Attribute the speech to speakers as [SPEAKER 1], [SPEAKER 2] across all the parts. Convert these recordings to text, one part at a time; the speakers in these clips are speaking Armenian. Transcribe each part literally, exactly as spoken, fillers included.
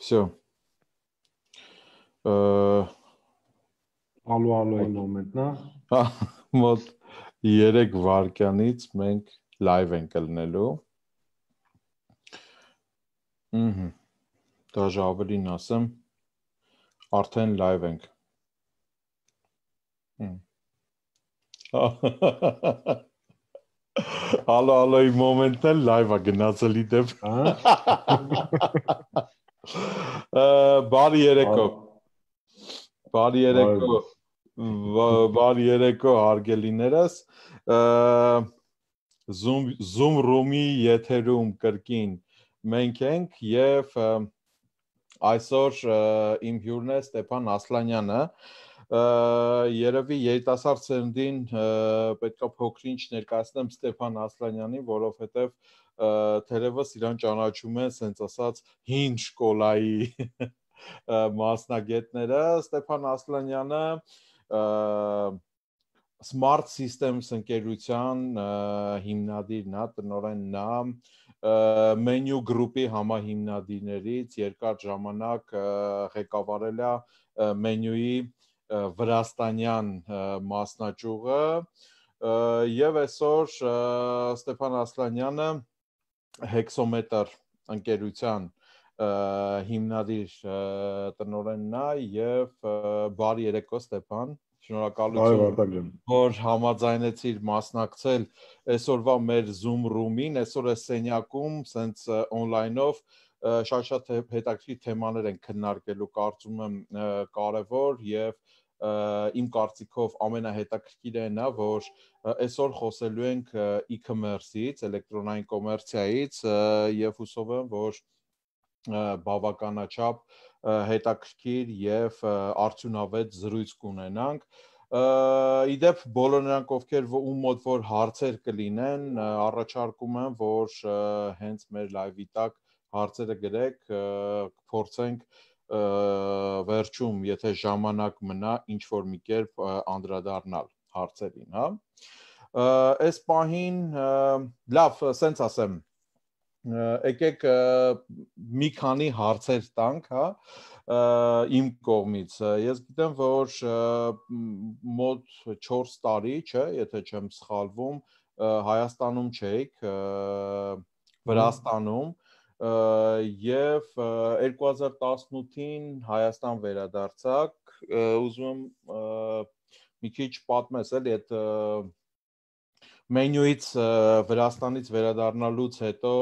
[SPEAKER 1] Всё.
[SPEAKER 2] Ալո ալոյի մոմենտն է։
[SPEAKER 1] Մոտ երեք վայրկյանից մենք լայվ ենք կլնելու։ Ահա։ Դաժե ավելին ասեմ, արդեն լայվ ենք։ Ալո ալոյի մոմենտն էլ լայվ է գնացել իդեպ։ Բարի երեկո։ Բարի երեկո։ Բարի երեկո հարգելիներս։ Zoom Zoom room-ի եթերում կրկին մենք ենք եւ այսօր իմ հյուրն է Ստեփան Ասլանյանը։ Երևի երիտասարդ սերնդին պետքա փոքրինչ ներկայացնեմ Ստեփան Ասլանյանին, որովհետեւ թերևս իրան ճանաչում են ասենց ասած հին շկոլայի մասնագետները։ Ստեփան Ասլանյանը Smart Systems ընկերության հիմնադիրն է, տնօրենն է, Menu Group-ի համահիմնադիրներից երկար ժամանակ ղեկավարել է Menu-ի վրաստանյան մասնաճյուղը եւ այսօր Ստեփան Ասլանյանը Hexometer ընկերության հիմնադիր տնօրենն է եւ բարի երեկո Ստեփան, շնորհակալություն որ համաձայնեցիր մասնակցել այսօրվա մեր Zoom room-ին, այսօր է սենյակում, սենց on-line-ով շատ-շատ հետաքրքիր թեմաներ են քննարկելու, կարծում եմ կարևոր եւ իմ կարծիքով ամենահետաքրքիրն է, որ այսօր խոսելու ենք e-commerce-ից, էլեկտրոնային կոմերցիայից եւ հուսով եմ, որ բավականաչափ հետաքրքիր եւ արդյունավետ զրույց կունենանք։ Իդեպ բոլոր նրանք, ովքեր ում մոտ որ հարցեր կլինեն, առաջարկում եմ, որ հենց մեր լայվի տակ հարցերը գրեք, կփորձենք վերջում, եթե ժամանակ մնա, ինչ որ մի կերպ անդրադառնալ հարցերին, հա։ Այս պահին լավ, սենց ասեմ, եկեք մի քանի հարցեր տանք, հա, իմ կողմից։ Ես գիտեմ, որ մոտ չորս տարի, չէ, եթե չեմ սխալվում, Հայաստանում չէիք, Վրաստանում եւ երկու հազար տասնութին Հայաստան վերադարձաք, ուզում եմ մի քիչ պատմես էլի այդ Menu-ից Վրաստանից վերադառնալուց հետո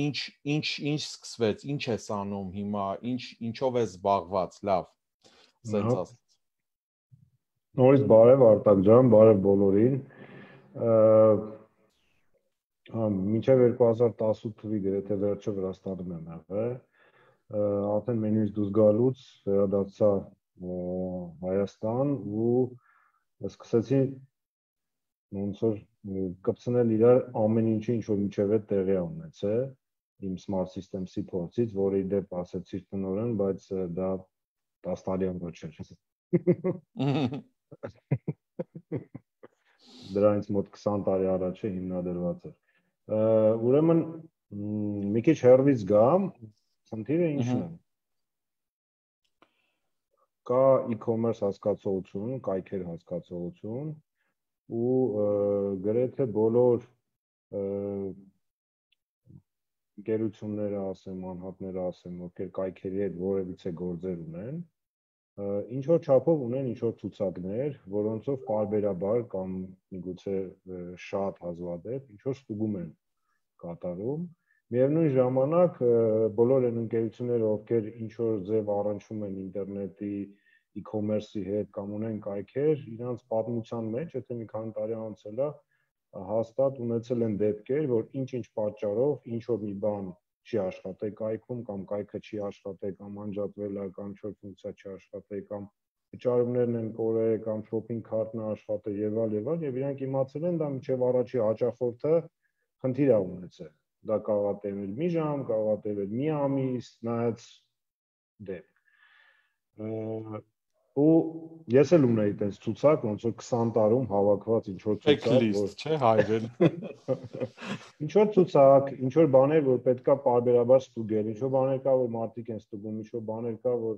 [SPEAKER 1] ինչ ինչ ինչ սկսվեց, ինչ ես անում հիմա, ինչ ինչով ես զբաղված, լավ, սենց ասած։
[SPEAKER 2] Նորից բարև Արտակ ջան, բարև բոլորին։ Մինչև երկու հազար տասութ թվականի գրեթե վերջը Վրաստանում եմ եղել։ Արդեն Menu-ից դուրս գալուց վերադարձա Հայաստան ու սկսեցի ոնց որ կպցնել իրար ամեն ինչը, ինչ որ միջև է տեղի ունեցել իմ Smart Systems-ի փորձից, որը իդեպ ասեցի տնօրեն, բայց դա տասը տարի անց չէր։ Դրանից մոտ քսան տարի առաջ է հիմնադրված էր։ Ուրեմն մի քիչ հեռվից գամ, խնդիրը ինչն է։ Կա e-commerce հասկացողություն, կայքեր հասկացողություն ու գրեթե բոլոր ընկերությունները ասեմ, անհատները ասեմ, ովքեր կայքերի հետ որևիցե գործեր ունեն, ինչ որ չափով ունեն ինչ որ ցուցակներ, որոնցով պարբերաբար կամ միգուցե շատ հազվադեպ ինչ որ ստուգում են կատարում։ Միևնույն ժամանակ բոլոր այն ընկերությունները, ովքեր ինչ որ ձև առնչվում են ինտերնետի e-commerce-ի հետ կամ ունեն կայքեր, իրանց պատմության մեջ, եթե մի քանի տարի անցել է, հաստատ ունեցել են դեպքեր, որ ինչ-ինչ պատճառով ինչ որ մի բան չի աշխատել կայքում կամ կայքը չի աշխատել կամ անջատվել է կամ ինչ-որ ֆունկցիա չի աշխատել կամ վճարումներն են կորել կամ shopping cart-ն է աշխատել եւ այլ եւ այլ եւ իրանք իմացել են դա մինչեւ առաջի հաճախորդը խնդիր է ունեցել։ Դա կարող է տևել մի ժամ, կարող է տևել մի ամիս, նայած դեպք։ ու ես էլ ունեի այդպես ցուցակ, ոնց որ քսան տարում հավաքված ինչ որ ցուցակ,
[SPEAKER 1] որ չէ հայրեն։
[SPEAKER 2] Ինչ որ ցուցակ, ինչ որ բաներ, որ պետքա պարբերաբար ստուգել, ինչ որ բաներ կա, որ մարդիկ են ստուգում, ինչ որ բաներ կա, որ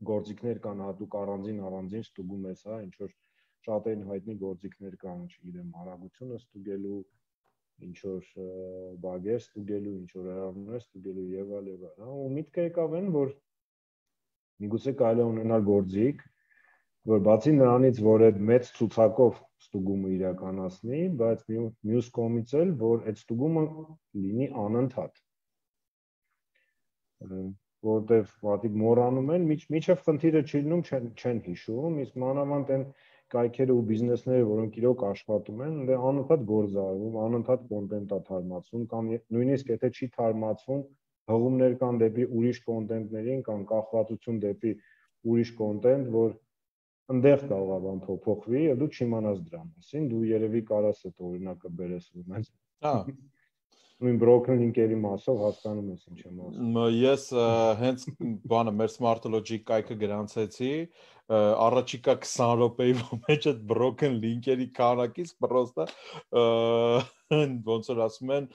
[SPEAKER 2] գործիքներ կան հատուկ առանձին առանձին ստուգում ես, հա, ինչ որ շատերին հայտնի գործիքներ կան, չգիտեմ, արագությունը ստուգելու, ինչ որ բագեր ստուգելու, ինչ որ հրավերներ ստուգելու եւ այլ եւ այլ, հա, ու միտքը եկավ այն, որ միգուցե կարելի է ունենալ գործիք, որ բացի նրանից, որ այդ մեծ ցուցակով ստուգումը իրականացնի, բայց մյուս կողմից էլ, որ այդ ստուգումը լինի անընդհատ։ Որտեվ մարդիկ մոռանում են, միջև խնդիրը չի լինում, չեն չեն հիշում, իսկ մանավանդ այն կայքերը ու բիզնեսները, որոնք իրոք աշխատում են, դե անընդհատ գործ արվում, անընդհատ կոնտենտ է թարմացվում, կամ նույնիսկ եթե չի թարմացվում, հղումներ կան դեպի ուրիշ կոնտենտներին, կամ կախվածություն դեպի ուրիշ կոնտենտ, որ ընդեղ կարող է բան փոխվի, եւ դու չիմանաս դրա մասին, դու երևի կարաս այդ օրինակը բերես ուրեմն։
[SPEAKER 1] Հա։
[SPEAKER 2] Նույն broken link-երի մասով հասկանում ես ինչ եմ ասում։
[SPEAKER 1] Ես հենց բանը մեր Smart Logic կայքը գրանցեցի, առաջիկա քսան րոպեի մեջ այդ broken link-երի քանակից պրոստը ոնց որ ասում են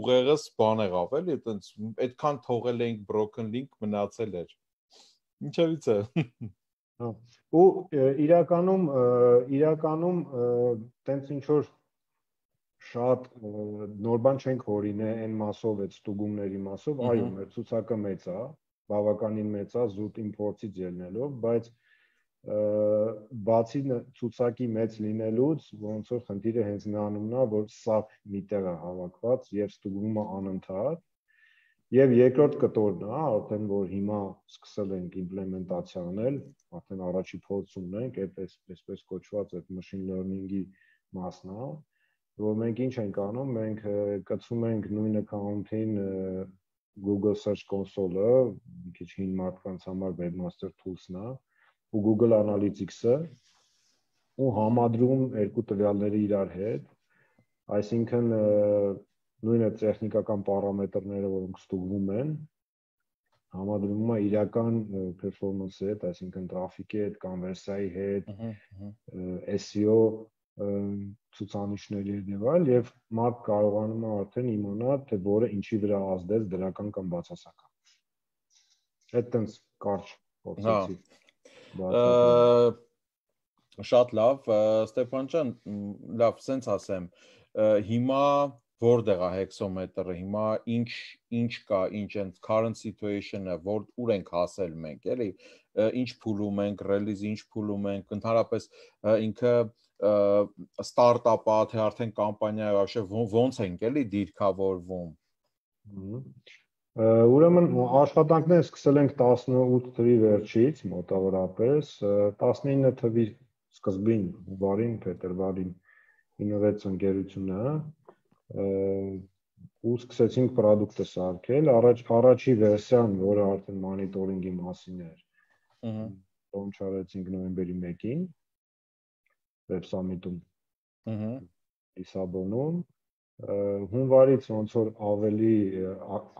[SPEAKER 1] ուղեղս բան եղավ էլի, այտենց այդքան թողել էինք broken link մնացել էր։ Ինչևից է։
[SPEAKER 2] Հա։ Ու իրականում իրականում տենց ինչ որ շատ նոր բան չենք հորինել այն մասով, այդ ստուգումների մասով, այո, մեր ցուցակը մեծ է, բավականին մեծ է, զուտ իմպորտից ելնելով, բայց բացի ցուցակի մեծ լինելուց, ոնց որ խնդիրը հենց նրանումն է, որ սա միտեղ է հավաքված եւ ստուգումը անընդհատ, եւ երկրորդ կտորն է, արդեն որ հիմա սկսել ենք իմպլեմենտացիա անել, արդեն առաջի փորձ ունենք, այդպես այսպես կոչված այդ machine learning-ի մասն է, որ մենք ինչ ենք անում, մենք կցում ենք նույն account-ին Google Search Console-ը, մի քիչ հին մարդկանց համար Webmaster Tools-ն է, ու Google Analytics-ը, ու համադրում երկու տվյալները իրար հետ, այսինքն նույնը տեխնիկական պարամետրները, որոնք ստուգվում են, համադրվում է իրական performance-ի հետ, այսինքն տրաֆիկի հետ, կոնվերսիայի հետ, S E O ցուցանիշների եւ այլ եւ մարդ կարողանում է արդեն իմանալ թե որը ինչի վրա ազդեց դրական կամ բացասական։ Այդտենց կարճ փորձեցի։
[SPEAKER 1] Շատ լավ, Ստեփան ջան, լավ, սենց ասեմ, հիմա որտեղ է հեքսոմետրը, հիմա ինչ ինչ կա, ինչ են current situation-ը, որ ուր ենք հասել մենք, էլի, ինչ փուլում ենք, release ինչ փուլում ենք, ընդհանրապես ինքը ստարտափ-ա, թե արդեն կամպանիա է, вообще ոնց ենք էլի դիրքավորվում։
[SPEAKER 2] Ուրեմն աշխատանքները սկսել ենք տասնութ թվականի վերջից, մոտավորապես, տասնինը թվականի սկզբին, հունվարին, փետրվարին ինովացիա ընկերությունը, ու սկսեցինք product-ը սարքել, առաջ առաջի վերսիան, որը արդեն monitoring-ի մասին էր, launch արեցինք նոյեմբերի մեկին, Web Summit-ում, Լիսաբոնում, հունվարից ոնց որ ավելի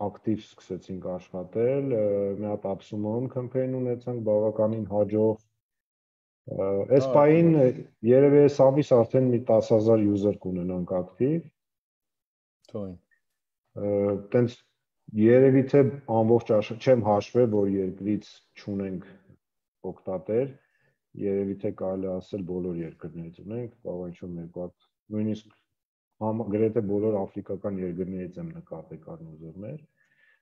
[SPEAKER 2] ակտիվ սկսեցինք աշխատել, մի հատ upsum campaign ունեցանք բավականին հաջող, այս պահին երևի այս ամիս արդեն մի տասը հազար user կունենանք ակտիվ, տենց երևի թե ամբողջ չեմ հաշվել, որ երկրից չունենք օգտատեր, երևի թե կարելի ասել բոլոր երկրներից ունենք, կարող ինչ-որ մեկ հատ, նույնիսկ գրեթե բոլոր աֆրիկական երկրներից եմ նկատել կան user-ներ,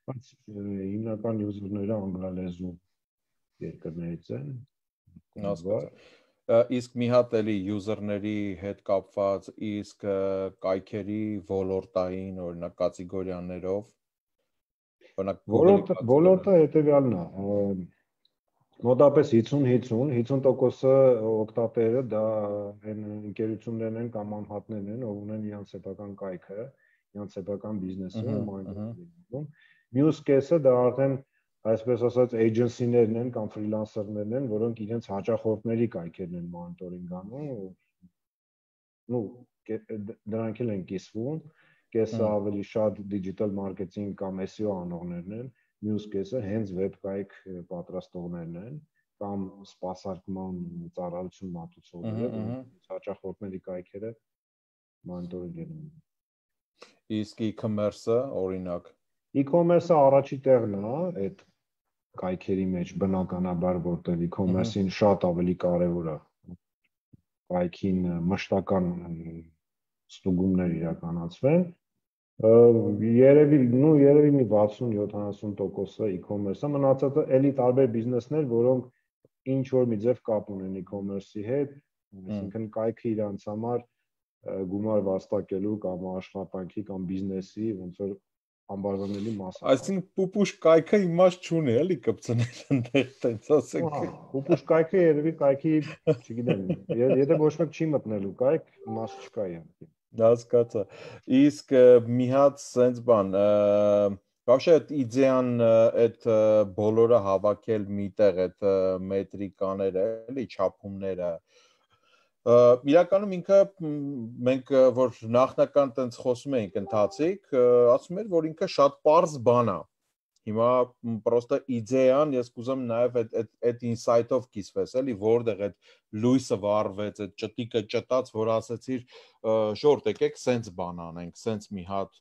[SPEAKER 2] բայց հիմնական user-ները անգլալեզու երկրներից են։
[SPEAKER 1] Իսկ մի հատ էլի user-ների հետ կապված, իսկ կայքերի ոլորտային, օրինակ կատեգորիաներով,
[SPEAKER 2] օրինակ ոլորտը հետևյալն է, մոտապես հինգսուն հինգսուն, հինգսուն տոկոսը օգտատերը դա այն ընկերություններն են կամ անհատներն են, ով ունեն իրենց սեփական կայքը, իրենց սեփական բիզնեսը, մոնիտորինգ։ Մյուս կեսը դա արդեն այսպես ասած էջենսիներն են կամ ֆրիլանսերներն են, որոնք իրենց հաճախորդների կայքերն են մոնիտորինգ անում, ու դրանք էլ են կիսվում, կեսը ավելի շատ digital marketing կամ S E O անողներն են, մյուս կեսը հենց web կայք պատրաստողներն են, կամ սպասարկման ծառայություն մատուցողները, հաճախորդների կայքերը մոնիտորինգ են անում։
[SPEAKER 1] Իսկ e-commerce-ը օրինակ
[SPEAKER 2] e-commerce-ը առաջի տեղն է այդ կայքերի մեջ բնականաբար, որտեղ e-commerce-ին շատ ավելի կարևոր է կայքին մշտական ստուգումներ իրականացվեն։ Երևի, նու երևի մի վաթսուն-յոթանասուն տոկոսը e-commerce-ը, մնացածը էլի տարբեր բիզնեսներ, որոնք ինչ որ մի ձև կապ ունեն e-commerce-ի հետ, այսինքն կայքը իրանց համար գումար վաստակելու կամ աշխատանքի կամ բիզնեսի ոնց որ անբաժանելի մաս է։
[SPEAKER 1] Այսինքն պուպուշ կայքը իմաստ չունի, էլի կպցնել այնտեղ, տենց ասենք։
[SPEAKER 2] Պուպուշ կայքը երևի կայքի, չգիտեմ, եթե ոչ մեկ չի մտնելու կայք, իմաստ չկա իհարկե։
[SPEAKER 1] Հասկացա։ Իսկ մի հատ սենց բան, вообще այդ իդեան այդ բոլորը հավաքել միտեղ այդ մետրիկաները, էլի չափումները։ Իրականում ինքը մենք որ նախնական տենց խոսում էինք ընթացիկ, ասում էր, որ ինքը շատ པարզ բան է։ Հիմա պրոստը իդեան, ես կուզեմ նաև այդ այդ ինսայթով կիսվես, էլի, որտեղ այդ լույսը վառվեց, այդ ճտիկը ճտաց, որ ասեցիր, շորտ եկեք, սենց բան անենք, սենց մի հատ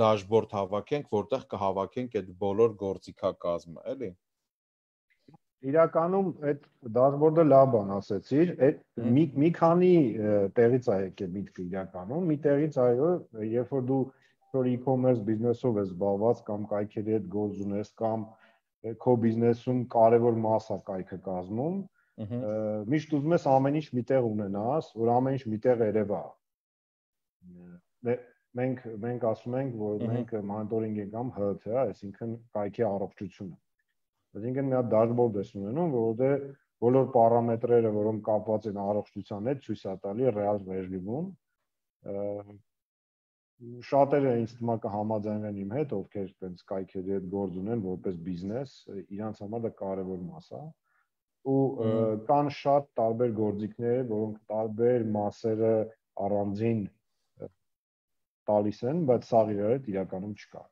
[SPEAKER 1] դաշբորդ հավաքենք, որտեղ կհավաքենք այդ բոլոր գործիքակազմը, էլի։
[SPEAKER 2] Իրականում այդ դաշբորդը լավ բան ասեցիր, այդ մի մի քանի տեղից է եկել միտքը իրականում, մի տեղից այո, երբ որ դու որ e-commerce բիզնեսով ես զբաղված կամ կայքերի հետ գործ ունես կամ քո բիզնեսում կարևոր մաս է կայքը կազմում, միշտ ուզում ես ամեն ինչ միտեղ ունենաս, որ ամեն ինչ միտեղ երևա։ Մենք մենք ասում ենք, որ մենք մոնիտորինգ ենք անում հ თ, այսինքն կայքի առողջությունը։ Այսինքն մի հատ դաշբորդ ես ունենում, որտեղ բոլոր պարամետրերը, որոնք կապված են առողջության հետ, ցույց է տալի ռեալ ռեժիմում։ Շատերը ինձ թվում է կհամաձայնեն իմ հետ, ովքեր տենց կայքերի հետ գործ ունեն որպես բիզնես, իրանց համար դա կարևոր մաս է։ Ու կան շատ տարբեր գործիքներ, որոնք տարբեր մասերը առանձին տալիս են, բայց սաղ իրար հետ իրականում չկա։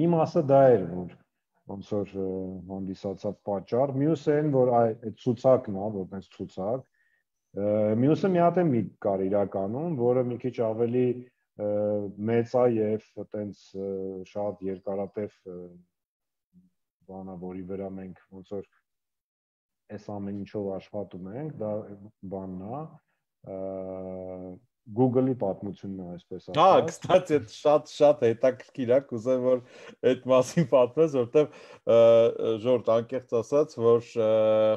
[SPEAKER 2] Մի մասը դա էր, որ ոնց որ հանդիսացավ պատճառ, մյուսը այն, որ այդ ցուցակն է, որ տենց ցուցակ, մյուսը մի հատ է միտք կար իրականում, որը մի քիչ ավելի մեծ է եւ այտենց շատ երկարատև բանա, որի վրա մենք ոնց որ այս ամեն ինչով աշխատում ենք, դա բանն է, Google-ի պատմությունն է, այսպես ասած։
[SPEAKER 1] Հա, կստացի, շատ շատ հետաքրքիր է, կուզեմ որ այդ մասին պատմես, որտեվ ժորտ անկեղծ ասած, որ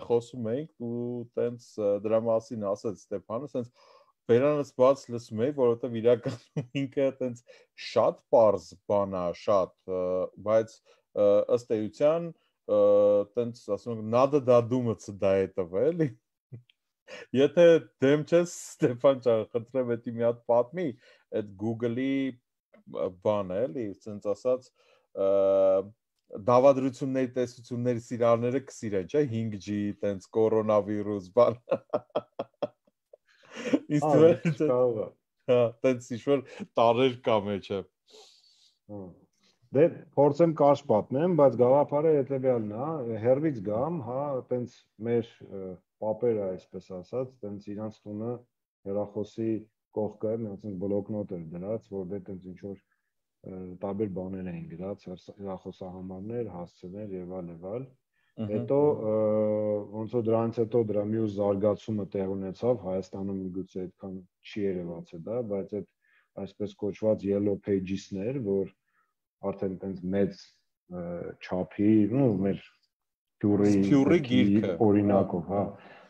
[SPEAKER 1] խոսում էինք ու տենց դրա մասին ասաց Ստեփանը, տենց բերանս բաց լսում էի, որովհետև իրականում ինքը տենց շատ པարզ բան է, շատ, բայց ըստ էության տենց ասում ենք надо додуматься до этого, էլի։ Եթե դեմ չես Ստեփան ջան, խնդրեմ էդի մի հատ պատմի, այդ Google-ի բանը, էլի, ասենց ասած, դավադրությունների տեսությունների սիրահարները կսիրեն, չէ՞, հինգ ջի, տենց կորոնավիրուս բան։ Իսկ
[SPEAKER 2] կարող է։
[SPEAKER 1] Հա, տենց ինչ-որ տարեր կա մեջը։
[SPEAKER 2] Դե փորձեմ կարճ պատմեմ, բայց գաղափարը հետեւյալն է, հերվից գամ, հա, տենց մեր պապերը, այսպես ասած, տենց իրանց տունը հեռախոսի կողքը մի հատ բլոկնոտ էր դրած, որտեղ տենց ինչ որ տարբեր բաներ էին գրած, հեռախոսահամարներ, հասցեներ եւ այլ եւ այլ։ Հետո ոնց որ դրանից հետո դրա մյուս զարգացումը տեղ ունեցավ, Հայաստանում միգուցե այդքան չի երևաց է դա, բայց այդ այսպես կոչված yellow pages-ներ, որ արդեն տենց մեծ չափի, ու մեր
[SPEAKER 1] Փյուրի գիրքը
[SPEAKER 2] օրինակով, հա։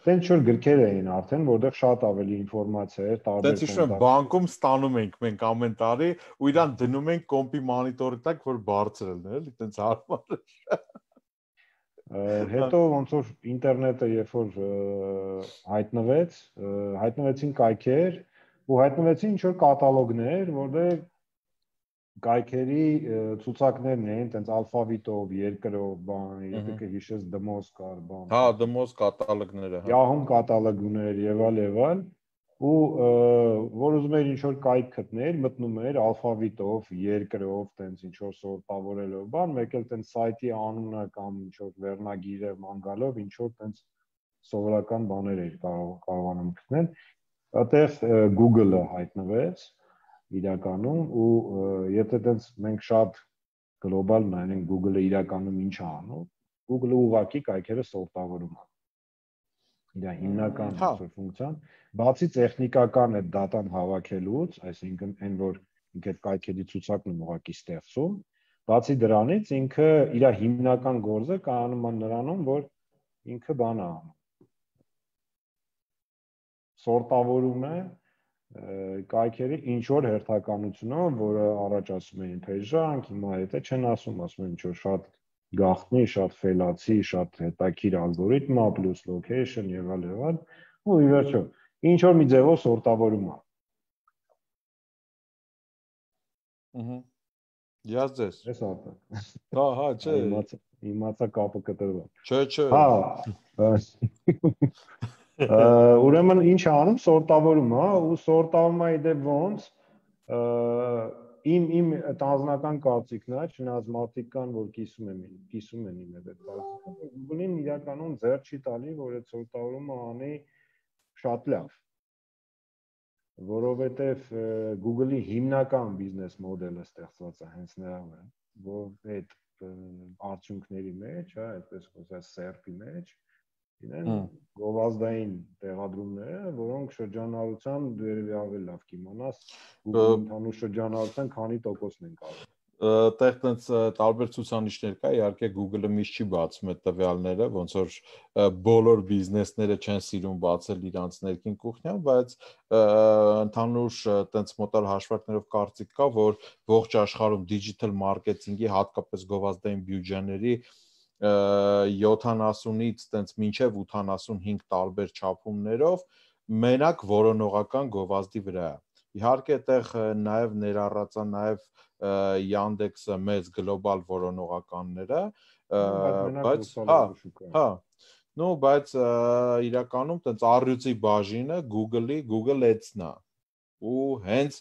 [SPEAKER 2] Տենց որ գրքեր էին արդեն, որտեղ շատ ավելի ինֆորմացիա էր, տարբեր
[SPEAKER 1] Տենց ինչ-որ բանկում ստանում ենք մենք ամեն տարի ու իրան դնում ենք կոմպի մոնիտորի տակ, որ բարձր լինի, էլի, տենց հարմար է։
[SPEAKER 2] Հետո ոնց որ ինտերնետը երբ որ հայտնվեց, հայտնվեցին կայքեր ու հայտնվեցին ինչ որ կատալոգներ, որտեղ կայքերի ցուցակներն էին, տենց ալֆավիտով, երկրով, բան, եթե կհիշես դմոզ կար, բան։
[SPEAKER 1] Հա, դմոզ կատալոգները, հա։
[SPEAKER 2] Yahoo կատալոգներ եւ այլ եւ այլ։ ու որ ուզում էր ինչ-որ կայք գտնել, մտնում էր ալֆավիտով, երկրով, տենց ինչ-որ սորտավորելով, բան, մեկ էլ տենց սայթի անունը կամ ինչ-որ վերնագիրը ման գալով, ինչ-որ տենց սովորական բաներ էր կարողանում գտնել, այդտեղ Google-ը հայտնվեց իրականում ու եթե տենց մենք շատ գլոբալ նայենք Google-ը իրականում ինչ է անում, Google-ը ուղղակի կայքերը սորտավորում է։ Դա հիմնական ֆունկցիան, բացի տեխնիկական այդ դատան հավաքելուց, այսինքն այն որ ինքը կայքերի ցուցակն է ուղղակի ստեղծում, բացի դրանից ինքը իր հիմնական գործը կանում է նրանում, որ ինքը բան է անում։ Սորտավորում է կայքերի ինչ որ հերթականությունով, որը առաջ ասում էին փեժանք, հիմա հետը չեն ասում, ասում են ինչ որ շատ գաղտնի, շատ ֆելացի, շատ հետաքրքիր ալգորիթմ է, plus location եւ այլ եւ այլ, ու ի վերջո ինչ որ մի ձևով սորտավորում է։
[SPEAKER 1] Ահա։ Ես ձեզ։
[SPEAKER 2] Էս արտը։
[SPEAKER 1] Հա, հա, չէ։
[SPEAKER 2] Իմացա, իմացա կապը կտրվել։
[SPEAKER 1] Չէ, չէ։
[SPEAKER 2] Հա։ Ուրեմն ինչ է անում, սորտավորում է, ու սորտավորում է իդե ոնց իմ իմ տանձնական կարծիքն է, չնայած մարդիկ կան, որ կիսում են, կիսում են իմ այդ կարծիքը, Google-ին իրականում ձեռ չի տալի, որ այդ սորտավորումը անի շատ լավ, որովհետև Google-ի հիմնական բիզնես մոդելը ստեղծված է հենց նրա վրա, որ այդ արդյունքների մեջ, հա, այդպես խոսած սերփի մեջ իրեն գովազդային տեղադրումները, որոնք շրջանառության դու երևի ավելի լավ կիմանաս, Google-ի ընդհանուր շրջանառության քանի տոկոսն են կարող։
[SPEAKER 1] Այդտեղ տենց տարբեր ցուցանիշներ կա, իհարկե Google-ը միշտ չի բացում այդ տվյալները, ոնց որ բոլոր բիզնեսները չեն սիրում բացել իրանց ներքին կուխնյան, բայց ընդհանուր տենց մոտալ հաշվարկներով կարծիք կա, որ ողջ աշխարհում digital marketing-ի հատկապես գովազդային բյուջեների յոթանասունից տենց մինչև ութանասունհինգ տարբեր չափումներով մենակ որոնողական գովազդի վրա է։ Իհարկե այդտեղ նաև ներառած է նաև Yandex-ը մեծ գլոբալ որոնողականները, բայց հա, հա, նո, բայց իրականում տենց առյուծի բաժինը Google-ի Google Ads-ն է։ Ու հենց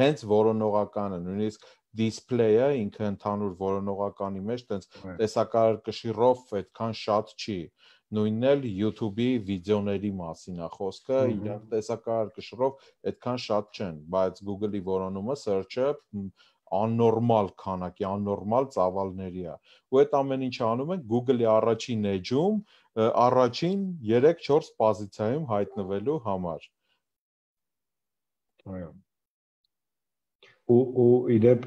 [SPEAKER 1] հենց որոնողականը, նույնիսկ display-ը ինքը ընդհանուր որոնողականի մեջ տենց տեսակարգշիռով այդքան շատ չի։ Նույնն էլ YouTube-ի վիդեոների մասին է խոսքը, իրանք տեսակարգշիռով այդքան շատ չեն, բայց Google-ի որոնումը search-ը աննորմալ քանակի, աննորմալ ծավալների է։ Ու այդ ամեն ինչը անում են Google-ի առաջին էջում, առաջին երեք-չորս պոզիցիայում հայտնվելու համար։
[SPEAKER 2] Այո։ Ու ու իդեպ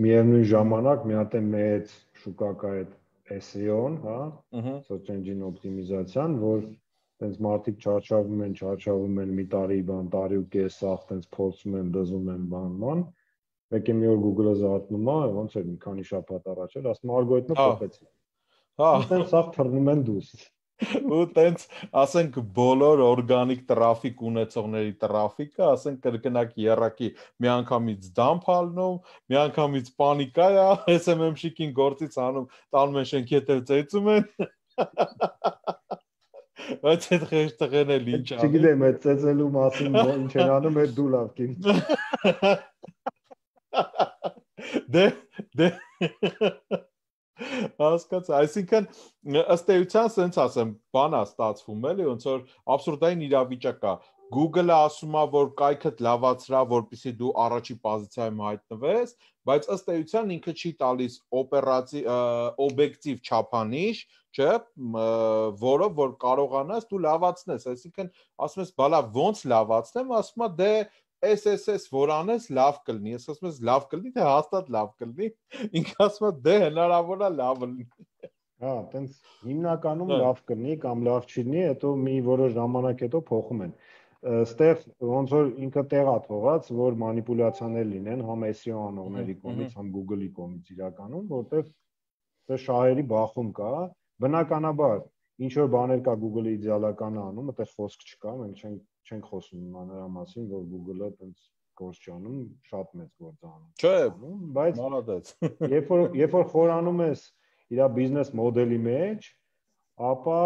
[SPEAKER 2] միևնույն ժամանակ մի հատ է մեծ շուկա կա այդ S E O-ն, հա, search engine optimization, որ տենց մարդիկ չարչավում են, չարչավում են մի տարի բան, տարի ու կես սաղ տենց փորձում են, դզում են բան, բան, մեկ է մի օր Google-ը զարթնում է, ոնց էր մի քանի շաբաթ առաջ էր, ասում ալգորիթմը փոխեցի։ Հա, տենց սաղ թռնում են դուրս։
[SPEAKER 1] Ու տենց, ասենք բոլոր օրգանիկ տրաֆիկ ունեցողների տրաֆիկը, ասենք կրկնակ երակի մի անգամից դամփ ալնում, մի անգամից պանիկա է, S M M շիկին գործից անում, տանում են շենքի հետ ծեծում են։ Բայց այդ խեղճ տղեն էլ ինչ անի։
[SPEAKER 2] Չգիտեմ, այդ ծեծելու մասին ինչ են անում, այդ դու լավ կին։
[SPEAKER 1] Դե դե Հասկաց, այսինքն ըստ էության սենց ասեմ, բան է ստացվում էլի, ոնց որ абսուրդային իրավիճակ է։ Google-ը ասում է, որ կայքդ լավացրա, որպեսզի դու առաջի պոզիցիայում հայտնվես, բայց ըստ էության ինքը չի տալիս օպերացիվ օբյեկտիվ չափանիշ, չէ, որով որ կարողանաս դու լավացնես, այսինքն ասում ես, բալա ոնց լավացնեմ, ասում է դե S S S որ անես լավ կլինի, ես ասում ես լավ կլինի, թե հաստատ լավ կլինի, ինքը ասում է դե հնարավոր է լավ լինի։
[SPEAKER 2] Հա, տենց հիմնականում լավ կլինի կամ լավ չի լինի, հետո մի որոշ ժամանակ հետո փոխում են։ Ստեղ ոնց որ ինքը տեղա թողած, որ մանիպուլյացիաներ լինեն համ S E O անողների կողմից, համ Google-ի կողմից իրականում, որտեղ դե շահերի բախում կա, բնականաբար ինչ որ բաներ կա Google-ի իդեալականը անում, այդտեղ խոսք չկա, մենք չենք չենք խոսում նրա մասին, որ Google-ը տենց գործ չանում, շատ մեծ գործ անում։
[SPEAKER 1] Չէ,
[SPEAKER 2] բայց
[SPEAKER 1] մալադեց։
[SPEAKER 2] Երբ որ երբ որ խորանում ես իր բիզնես մոդելի մեջ, ապա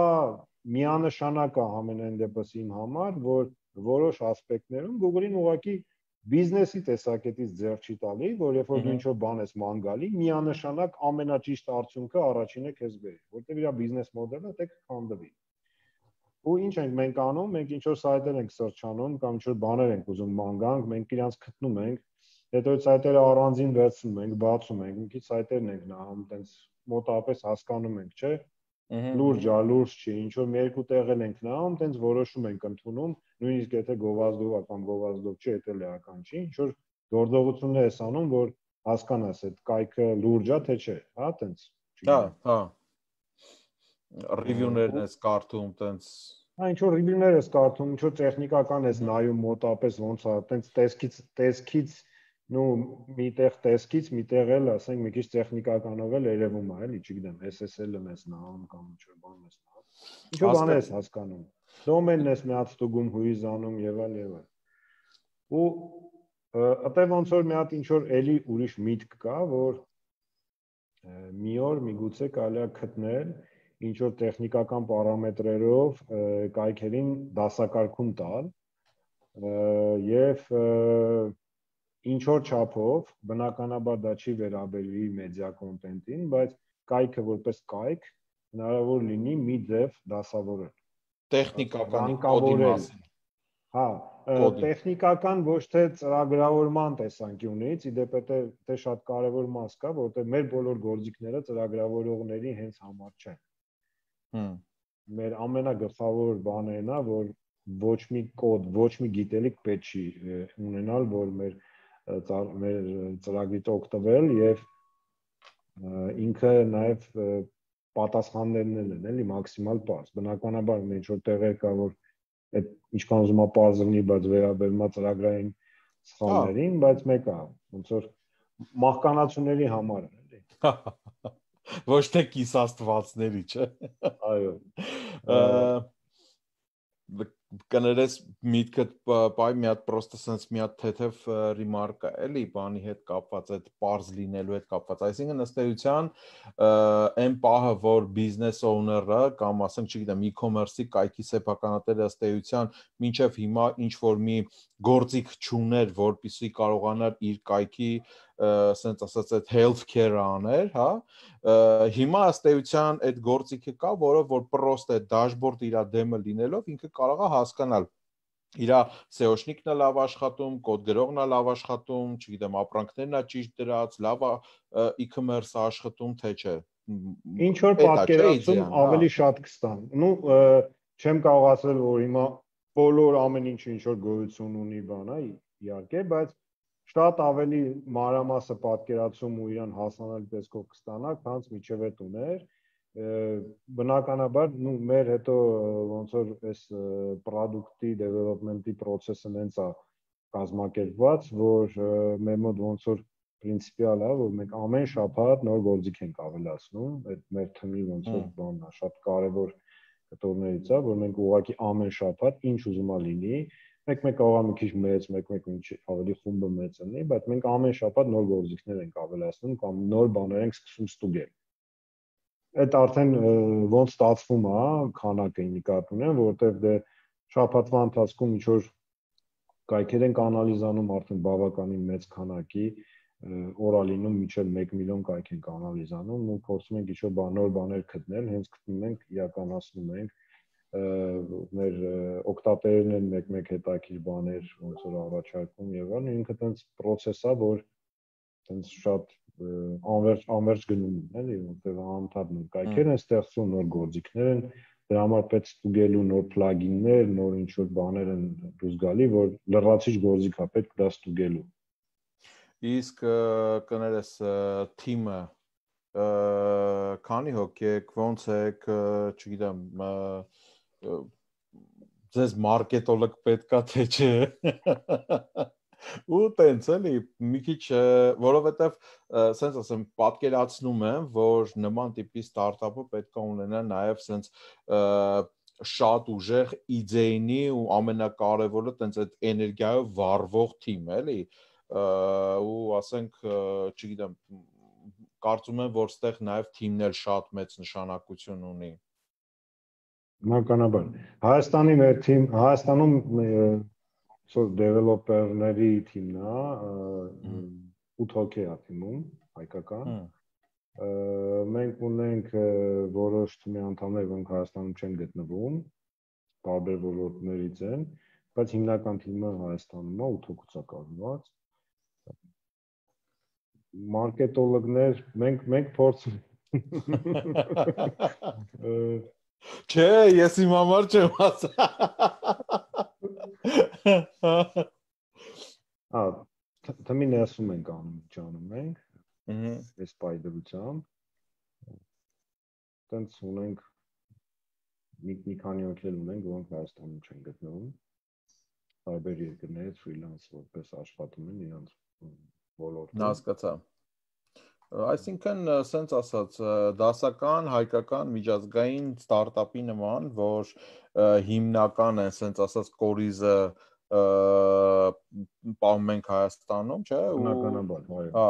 [SPEAKER 2] միանշանակ է ամենայն դեպս իմ համար, որ որոշ ասպեկտներում Google-ին ուղղակի բիզնեսի տեսակետից ձեռք չի տալի, որ երբ որ դու ինչ-որ բան ես ման գալի, միանշանակ ամենաճիշտ արդյունքը առաջինը քեզ բերի, որտեղ իր բիզնես մոդելը դե կքանդվի։ Ու ինչ ենք մենք անում, մենք ինչ-որ սայթեր ենք սրճանում կամ ինչ-որ բաներ ենք ուզում ման գանք, մենք իրանց գտնում ենք, հետո այդ սայթերը առանձին վերցնում ենք, բացում ենք, մի քիչ սայթերն ենք նայում, տենց մոտավորապես հասկանում ենք, չէ՞։ Լուրջ է, լուրջ չի, ինչ որ մի երկու տեղել ենք նայում, տենց որոշում ենք ընդունում, նույնիսկ եթե գովազդով է կամ գովազդով չի, դա լեական չի, ինչ որ գործողություններ ես անում, որ հասկանաս այդ կայքը լուրջ է, թե չէ, հա, տենց։
[SPEAKER 1] Հա, հա։ Ռիվյուներն ես կարդում, տենց։
[SPEAKER 2] Հա, ինչ որ ռիվյուներ ես կարդում, ինչ որ տեխնիկական ես նայում, մոտապես ոնց է, տենց տեսքից, տեսքից, նու միտեղ տեսքից, միտեղ էլ, ասենք, մի քիչ տեխնիկականով էլ երևում է, էլի, չգիտեմ, S S L-ը մեզ նայում կամ ինչ որ բան մեզ նայում։ Ինչ որ բան ես հասկանում։ Դոմենն ես մի հատ ստուգում, հույզանում եւ այլ եւ այլ։ Ու այդտեղ ոնց որ մի հատ ինչ որ էլի ուրիշ միտք կա, որ մի օր միգուցե կարելի է գտնել ինչ որ տեխնիկական պարամետրերով կայքերին դասակարգում տալ եւ ինչ որ չափով, բնականաբար դա չի վերաբերվի մեդիա կոնտենտին, բայց կայքը որպես կայք հնարավոր լինի մի ձև դասավորել։
[SPEAKER 1] Տեխնիկական կոդի մասին։
[SPEAKER 2] Հա, տեխնիկական ոչ թե ծրագրավորման տեսանկյունից, իդեպ դա շատ կարևոր մաս կա, որովհետև մեր բոլոր գործիքները ծրագրավորողների հենց համար չեն։
[SPEAKER 1] Հմ։
[SPEAKER 2] Մեր ամենագլխավոր բաներն է, որ ոչ մի կոդ, ոչ մի գիտելիք պետք չի ունենալ, որ մեր մեր ծրագրից օգտվել եւ ինքը նաեւ պատասխաններն են, էլի մաքսիմալ պարզ։ Բնականաբար ինչ որ տեղեր կա, որ այդ ինչքան ուզում է պարզ լինի, բայց վերաբերում է ծրագրային սխալներին, բայց մեկը ոնց որ մահկանացուների համար է, էլի։
[SPEAKER 1] Ոչ թե կիսաստվածների, չէ։
[SPEAKER 2] Այո։
[SPEAKER 1] Կներես միտքդ բայ մի հատ պրոստը sense մի հատ թեթև ռիմարկա էլի բանի հետ կապված այդ པարզ լինելու հետ կապված, այսինքն ըստ էության այն պահը որ բիզնես օուները կամ ասենք չգիտեմ e-commerce-ի կայքի սեփականատերը ըստ էության մինչև հիմա ինչ որ մի գործիք չուներ, որպեսզի կարողանար իր կայքի sense ասած այդ health care-ը աներ, հա, հիմա ըստ էության այդ գործիքը կա, որը որ պրոստ է դաշբորդ իր դեմը լինելով ինքը կարող է հասկանալ իր S E O-շնիկն է լավ աշխատում, կոդ գրողն է լավ աշխատում, չգիտեմ, ապրանքներն է ճիշտ դրած, լավ e-commerce-ը աշխատում, թե չէ։
[SPEAKER 2] Ինչ որ պատկերացում ավելի շատ կստան։ Նու չեմ կարող ասել, որ հիմա բոլոր ամեն ինչ ինչ որ գոյություն ունի բան է, իհարկե, բայց շատ ավելի մանրամասը պատկերացում ու իրան հասանելի տեսքով կստանա, քանց միջև այդ ուներ։ Բնականաբար, նու մեր հետո ոնց որ այս product-ի development-ի process-ը հենց է կազմակերպված, որ մեր մոտ ոնց որ պրինցիպիալ է, որ մենք ամեն շաբաթ նոր գործիք ենք ավելացնում, այդ մեր թիմի ոնց որ բանն է, շատ կարևոր կտորներից է, որ մենք ուղղակի ամեն շաբաթ ինչ ուզում է լինի, մեկ-մեկ կարող է մի քիչ մեծ, մեկ-մեկ ինչ ավելի խումբը մեծ լինի, բայց մենք ամեն շաբաթ նոր գործիքներ ենք ավելացնում կամ նոր բաներ ենք սկսում ստուգել։ Այդ արդեն ոնց ստացվում է, քանակը նկատի ունեմ, որովհետև դե շաբաթվա ընթացքում ինչ որ կայքեր ենք անալիզանում արդեն բավականին մեծ քանակի, օրալինում միջև մեկ միլիոն կայք ենք անալիզանում ու փորձում ենք ինչ-որ նոր բաներ գտնել, հենց գտնում ենք, իրականացնում ենք, մեր օգտատերերն են մեկ-մեկ հետաքրքիր բաներ ոնց որ առաջարկում եւ այլն, ինքը տենց process է, որ տենց շատ անverջ անverջ գնում են, էլի, որտեղ անընդհատ նոր կայքեր են ստեղծում, նոր գործիքներ են, դրա համար պետք ստուգելու նոր plugin-ներ, նոր ինչ-որ բաներ են դուրս գալի, որ լրացիչ գործիք է պետք դա ստուգելու։
[SPEAKER 1] Իսկ կներես թիմը քանի հոգի եք, ոնց եք, չգիտեմ, ձեզ մարքետոլոգ պետքա թե չէ։ Ու տենց էլի մի քիչ, որովհետև սենց ասեմ, պատկերացնում եմ, որ նման տիպի ստարտափը պետք է ունենա նաև սենց շատ ուժեղ իդեյնի ու ամենակարևորը տենց այդ էներգիայով վառվող թիմ, էլի, ու ասենք, չգիտեմ, կարծում եմ, որ ստեղ նաև թիմն էլ շատ մեծ նշանակություն ունի։
[SPEAKER 2] Բնականաբար Հայաստանի մեր թիմ Հայաստանում սոր դեվելոպերների թիմն է, ութ հոգի է թիմում, հայկական։ Մենք ունենք որոշ թիմի անդամներ, որոնք Հայաստանում չեն գտնվում, տարբեր ոլորտներից են, բայց հիմնական թիմը Հայաստանում է, ութ հոգուց է կազմված։ Մարքետոլոգներ, մենք մենք փորձում
[SPEAKER 1] Չէ, ես իմ համար չեմ ասա։
[SPEAKER 2] Ա, թմի ներսում ենք անում, ճանում ենք։ Այս պայդրությամբ տենց ունենք մի մի քանի հոգի ունենք, որոնք Հայաստանում չեն գտնվում, տարբեր երկրներից ֆրիլանս որպես աշխատում են իրանց ոլորտում։
[SPEAKER 1] Հասկացա։ Այսինքն, սենց ասած, դասական, հայկական, միջազգային ստարտափի նման, որ հիմնական են, սենց ասած, կորիզը պահում ենք Հայաստանում, չէ՞։
[SPEAKER 2] Բնականաբար, այո։
[SPEAKER 1] Հա,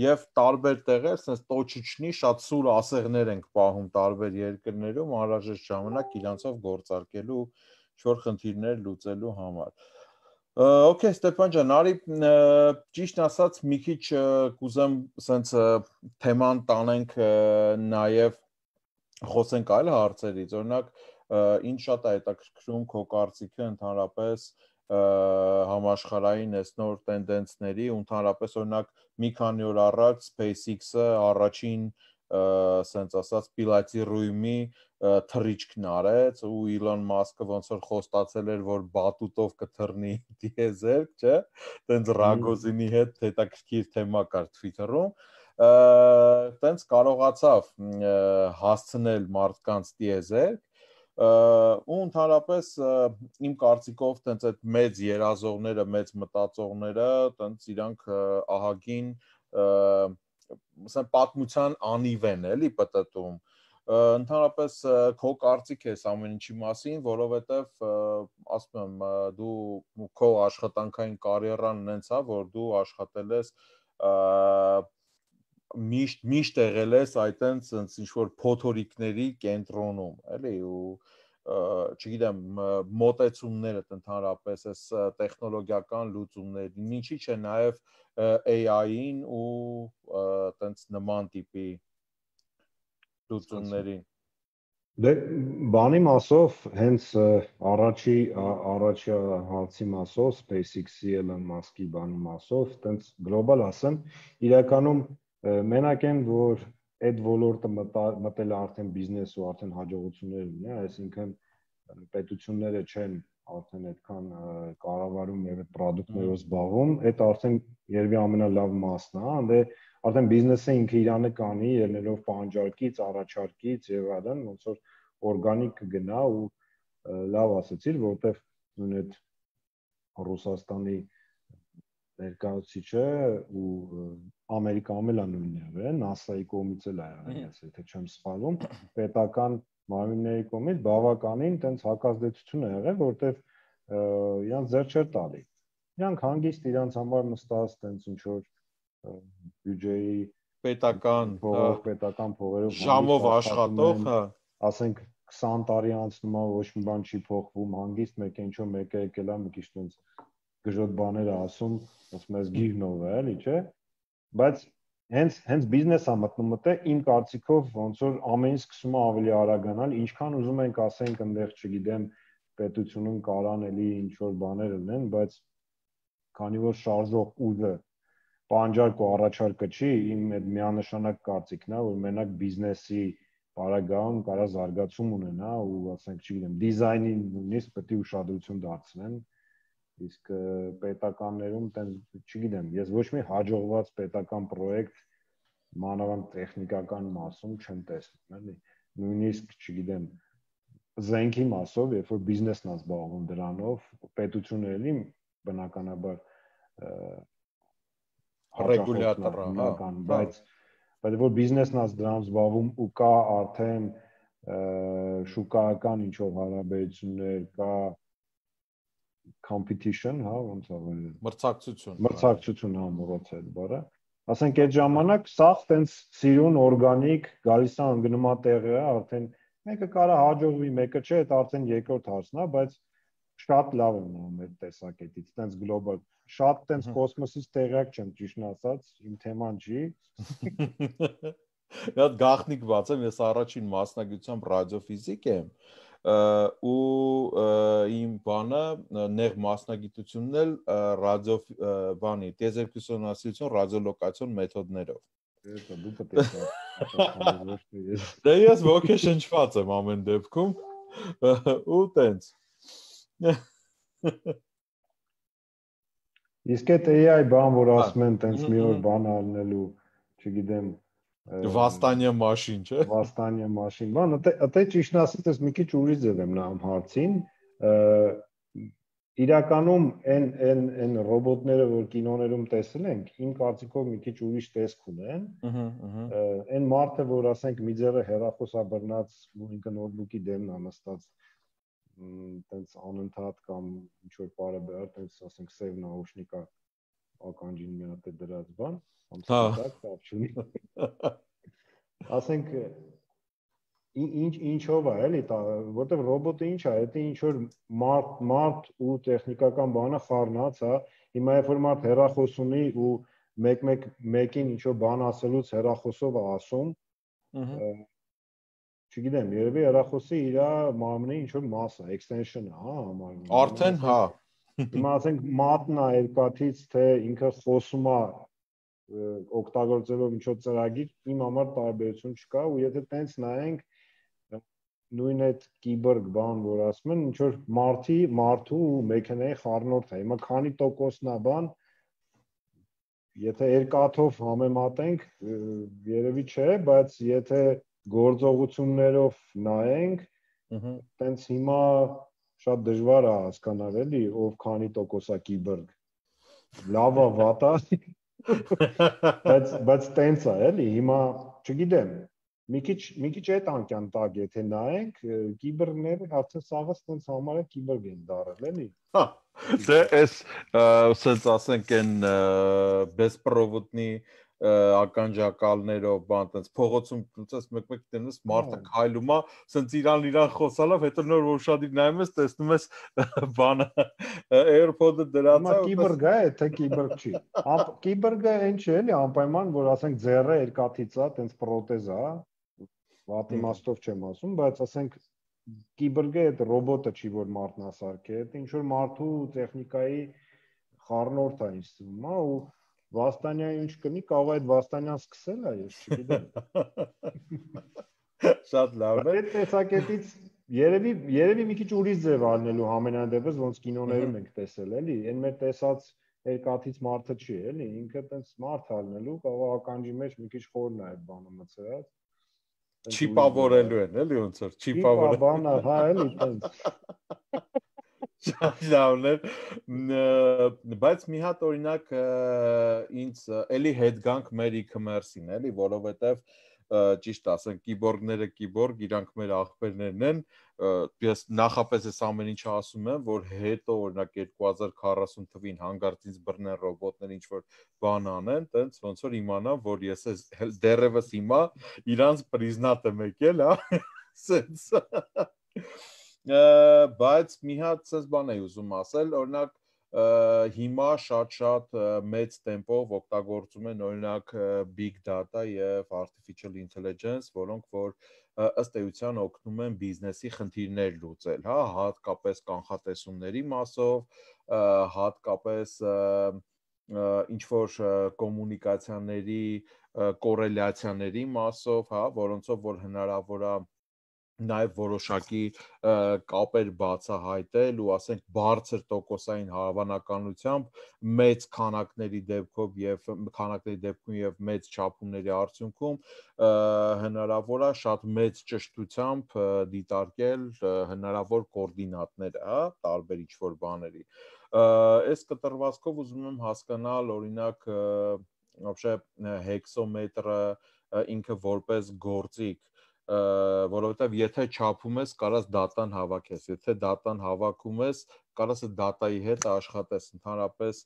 [SPEAKER 1] եւ տարբեր տեղեր, սենց տոչիչնի շատ սուր ասեղներ ենք պահում տարբեր երկրներում, անհրաժեշտ ժամանակ իրանցով գործարկելու, ինչ-որ խնդիրներ լուծելու համար։ Okay, Ստեփան ջան, արի ճիշտ ասած մի քիչ կուզեմ սենց թեման տանենք նաև խոսենք այլ հարցերից, օրինակ ինչ շատ է հետաքրքրում քո կարծիքը ընդհանրապես համաշխարհային այս նոր տենդենսների ու ընդհանրապես օրինակ մի քանի օր առաջ SpaceX-ը առաջին սենց ասած պիլոտի ռույմի թռիչքն արեց ու Իլոն Մասկը ոնց որ խոստացել էր, որ բատուտով կթռնի դիեզերք, չէ՞, տենց Ռագոզինի հետ հետաքրքիր թեմա կար Twitter-ում, տենց կարողացավ հասցնել մարդկանց դիեզերք ու ընդհանրապես իմ կարծիքով տենց այդ մեծ երազողները, մեծ մտածողները, տենց իրանք ահագին ասեն պատմության անիվ են, էլի պտտում։ Ընդհանրապես քո կարծիք ես ամեն ինչի մասին, որովհետև ասում եմ, դու քո աշխատանքային կարիերան ունեցա, որ դու աշխատել ես միշտ միշտ եղել ես այտենց ինչ-որ փոթորիկների կենտրոնում, էլի ու չգիտեմ, մոտեցումներդ ընդհանրապես այս տեխնոլոգիական լուծումներին, ինչի՞ չէ նաև A I-ին ու տենց նման տիպի լուծումներին։
[SPEAKER 2] Դե բանի մասով հենց առաջի առաջի հարցի մասով SpaceX-ի Elon Musk-ի բանի մասով տենց գլոբալ ասեմ, իրականում մենակ են որ այդ ոլորտը մտել արդեն բիզնես ու արդեն հաջողություններ ունի, այսինքն պետությունները չեն արդեն այդքան կառավարում եւ այդ պրոդուկտներով զբաղվում, այդ արդեն երևի ամենալավ մասն է, դե արդեն բիզնեսը ինքը իրանը կանի, ելնելով պահանջարկից, առաջարկից եւ այլն, ոնց որ օրգանիկ կգնա ու լավ ասացիր, որովհետեւ նույն այդ Ռուսաստանի ներկայացուցիչը ու Ամերիկայում էլ նույնն է, NASA-ի կողմից էլ է եղել, եթե չեմ սխալվում, պետական մարմինների կողմից բավականին տենց հակազդեցություն է եղել, որովհետեւ իրանց ձեռ չէր տալի։ Իրանք հանգիստ իրանց համար նստած տենց ինչ որ բյուջեի
[SPEAKER 1] պետական
[SPEAKER 2] փող, պետական փողերով
[SPEAKER 1] ժամով աշխատող, հա,
[SPEAKER 2] ասենք քսան տարի անցնում է, ոչ մի բան չի փոխվում, հանգիստ մեկ ինչ որ մեկը եկել է մի քիչ տենց գժոտ բաներ ասում, ասում ես գիրնով է, էլի, չէ՞։ Բայց հենց հենց բիզնեսը մտնում մտե իմ կարծիքով ոնց որ ամեն ինչ սկսում է ավելի արագանալ, ինչքան ուզում ենք ասենք այնտեղ չգիտեմ պետությունում կարան էլի ինչ որ բաներ լինեն, բայց քանի որ շարժող ուժը պահանջարկ ու առաջարկը չի, իմ այդ միանշանակ կարծիքն է, որ մենակ բիզնեսի բարագայում կարա զարգացում ունենա ու ասենք չգիտեմ դիզայնի նույնիսկ պետք է ուշադրություն դարձնեն, իսկ պետականներում տենց չգիտեմ, ես ոչ մի հաջողված պետական պրոյեկտ մանավանդ տեխնիկական մասում չեմ տեսնում, էլի, նույնիսկ չգիտեմ զենքի մասով, երբ որ բիզնեսն է զբաղվում դրանով, պետությունը էլի բնականաբար
[SPEAKER 1] ռեգուլյատորը, հա,
[SPEAKER 2] բայց բայց որ բիզնեսն է դրանով զբաղվում ու կա արդեն շուկայական ինչ որ հարաբերություններ, կա competition, հա, ոնց է
[SPEAKER 1] մրցակցություն,
[SPEAKER 2] մրցակցություն հա մոռացա այդ բառը, ասենք այդ ժամանակ սա տենց սիրուն օրգանիկ գալիս է անգնում է տեղը, արդեն Մեկը կարա հաջողվի, մեկը չէ, դա արդեն երկրորդ հարցն է, բայց շատ լավ է նա մեր տեսակետից, տենց գլոբալ, շատ տենց կոսմոսից տեղյակ չեմ, ճիշտն ասած, իմ թեման չի։
[SPEAKER 1] Այդ գաղտնիք բացեմ, ես առաջին մասնագիտությամբ ռադիոֆիզիկ եմ, ու իմ բանը նեղ մասնագիտությունն էլ ռադիո բանի, տիեզերքությունասիրություն ռադիոլոկացիոն մեթոդներով։
[SPEAKER 2] Դա դու պետք է պատասխանես։
[SPEAKER 1] Դե ես ոգեշնչված եմ ամեն դեպքում ու տենց։
[SPEAKER 2] Իսկ այդ A I բան, որ ասում են տենց մի օր բան առնելու, չգիտեմ,
[SPEAKER 1] Վաստանյա մաշին, չէ։
[SPEAKER 2] Վաստանյա մաշին։ Բան, ըտե ճիշտն ասած, ես մի քիչ ուրիշ ձև եմ նայում հարցին։ Իրականում այն այն այն ռոբոտները, որ կինոներում տեսել ենք, իմ կարծիքով մի քիչ ուրիշ տեսք ունեն։ Այն մարդը, որ ասենք մի ձեռը հեռախոսա բռնած ու ինքը նոթբուքի դեմն է նստած, տենց անընդհատ կամ ինչ որ բարեբար, տենց ասենք սև նաուշնիկա ականջին մի հատ է դրած բան, կամ սպիտակ, կապ չունի։ Ասենք ինչ ինչով է, էլի, որտեվ ռոբոտը ինչ է, դա ինչ որ մարդ մարդ ու տեխնիկական բանը խառնած է։ Հիմա երբ որ մարդ հեռախոս ունի ու մեկ-մեկ մեկին ինչ որ բան ասելուց հեռախոսով է ասում, չգիտեմ, երևի հեռախոսի իր մարմնի ինչ որ մաս է, extension է, հա, համարվում։
[SPEAKER 1] Արդեն հա։
[SPEAKER 2] Հիմա ասենք մատն է երկաթից, թե ինքը խոսում է օգտագործելով ինչ որ ծրագիր, իմ համար տարբերություն չկա, ու եթե տենց նայենք նույն այդ կիբորգ բան, որ ասում են, ինչ որ մարդի, մարդու ու մեքենայի խառնուրդ է։ Հիմա քանի տոկոսն է բան, եթե երկաթով համեմատենք, երևի չէ, բայց եթե գործողություններով նայենք, տենց հիմա շատ դժվար է հասկանալ, էլի, ով քանի տոկոս է կիբորգ։ Լավ է, վատ է, բայց բայց տենց է, էլի, հիմա չգիտեմ, մի քիչ մի քիչ այդ անկյան տակ եթե նայենք, կիբորգները արդեն սաղը տենց համարը կիբորգ են դարել, էլի։
[SPEAKER 1] Հա, դե էս ասած ասենք այն բեսպրովոդնի ականջակալներով բան տենց փողոցում տենց մեկ-մեկ տենես մարդը քայլում է, սենց իրան իրան խոսալով, հետո նոր որ շատի նայում ես, տեսնում ես բանը AirPod-ը դրած է։
[SPEAKER 2] Կիբորգ է, թե կիբորգ չի։ Կիբորգը այն չէ, էլի, անպայման, որ ասենք ձեռը երկաթից է, տենց պրոթեզ է, վատ իմաստով չեմ ասում, բայց ասենք կիբորգը այդ ռոբոտը չի, որ մարդն է սարքել, դա ինչ որ մարդու տեխնիկայի խառնուրդ է ինձ թվում, հա, ու Վաստանյանը ինչ կնի, կարող է այդ Վաստանյան սկսել է, ես չգիտեմ։
[SPEAKER 1] Շատ լավ է։
[SPEAKER 2] Այդ տեսակետից երևի երևի մի քիչ ուրիշ ձև առնելու համենայնդեպս ոնց կինոներում ենք տեսել, էլի, այն մեր տեսած երկաթից մարդը չի, էլի, ինքը տենց մարդ առնելու, կարող ականջի մեջ մի քիչ խորն է այդ բանը մցրած։
[SPEAKER 1] Չիպավորելու են, էլի ոնց որ
[SPEAKER 2] չիպավորել։ Չիպա բանը, հա, էլի, տենց։
[SPEAKER 1] Շատ լավն է, բայց մի հատ օրինակ ինձ էլի հետ գանք մեր e-commerce-ին, էլի, որովհետև ճիշտ ասենք կիբորգները կիբորգ, իրանք մեր աղբերներն են, ես նախապես այս ամեն ինչը ասում եմ, որ հետո օրինակ երկու հազար քառասուն թվին հանգարց ինձ բռնեն ռոբոտներ ինչ որ բան անեն, տենց ոնց որ իմանամ, որ ես դեռևս հիմա իրանց պրիզնատ եմ եկել, հա, սենց բայց մի հատ ցես բան էի ուզում ասել, օրինակ հիմա շատ-շատ մեծ տեմպով օգտագործում են օրինակ big data եւ artificial intelligence, որոնք որ ըստ էության օգնում են բիզնեսի խնդիրներ լուծել, հա, հատկապես կանխատեսումների մասով, հատկապես ինչ որ կոմունիկացիաների կորելյացիաների մասով, հա, որոնցով որ հնարավոր է նաև որոշակի կապեր բացահայտել ու ասենք բարձր տոկոսային հավանականությամբ մեծ քանակների դեպքով եւ քանակների դեպքում եւ մեծ չափումների արդյունքում հնարավոր է շատ մեծ ճշտությամբ դիտարկել հնարավոր կոորդինատները, հա, տարբեր ինչ-որ բաների։ Այս կտրվածքով ուզում եմ հասկանալ օրինակ вообще հեքսոմետրը ինքը որպես գործիք որովհետև եթե չափում ես, կարաս դատան հավաքես, եթե դատան հավաքում ես, կարաս այդ դատայի հետ աշխատես, ընդհանրապես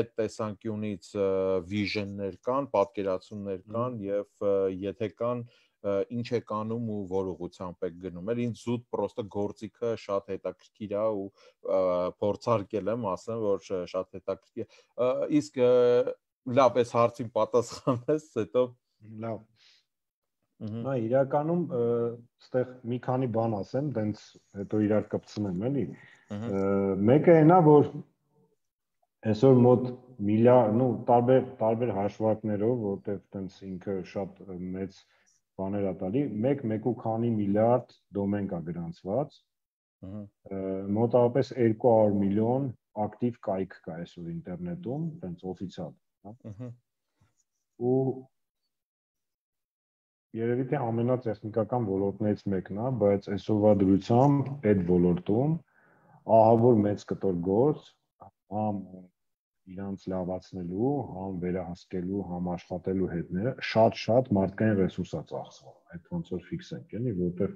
[SPEAKER 1] այդ տեսանկյունից վիժեններ կան, պատկերացումներ կան եւ եթե կան ինչ եք անում ու որ ուղղությամբ եք գնում։ Էլ ինձ զուտ պրոստը գործիքը շատ հետաքրքիր է ու փորձարկել եմ, ասեմ, որ շատ հետաքրքիր է։ Իսկ լավ, այս հարցին պատասխանես, հետո
[SPEAKER 2] լավ։ Նա իրականում այստեղ մի քանի բան ասեմ, դենց հետո իրար կպցնեմ, էլի։ Մեկը այնա, որ այսօր մոտ միլիարդ, նո, տարբեր տարբեր հաշվարկներով, որտեղ տենց ինքը շատ մեծ բաներ ա տալի, մեկ մեկ ու քանի միլիարդ դոմեն կա գրանցված, մոտավորապես երկու հարյուր միլիոն ակտիվ կայք կա այսօր ինտերնետում, տենց օֆիցիալ, հա։ Ու երևի թե ամենատեխնիկական ոլորտներից մեկն է, բայց այսօրվա դրությամբ այդ ոլորտում ահավոր մեծ կտոր գործ, համ իրանց լավացնելու, համ վերահսկելու, համ աշխատելու հետները շատ-շատ մարդկային ռեսուրս է ծախսվում։ Այդ ոնց որ ֆիքսենք, էլի, որտեղ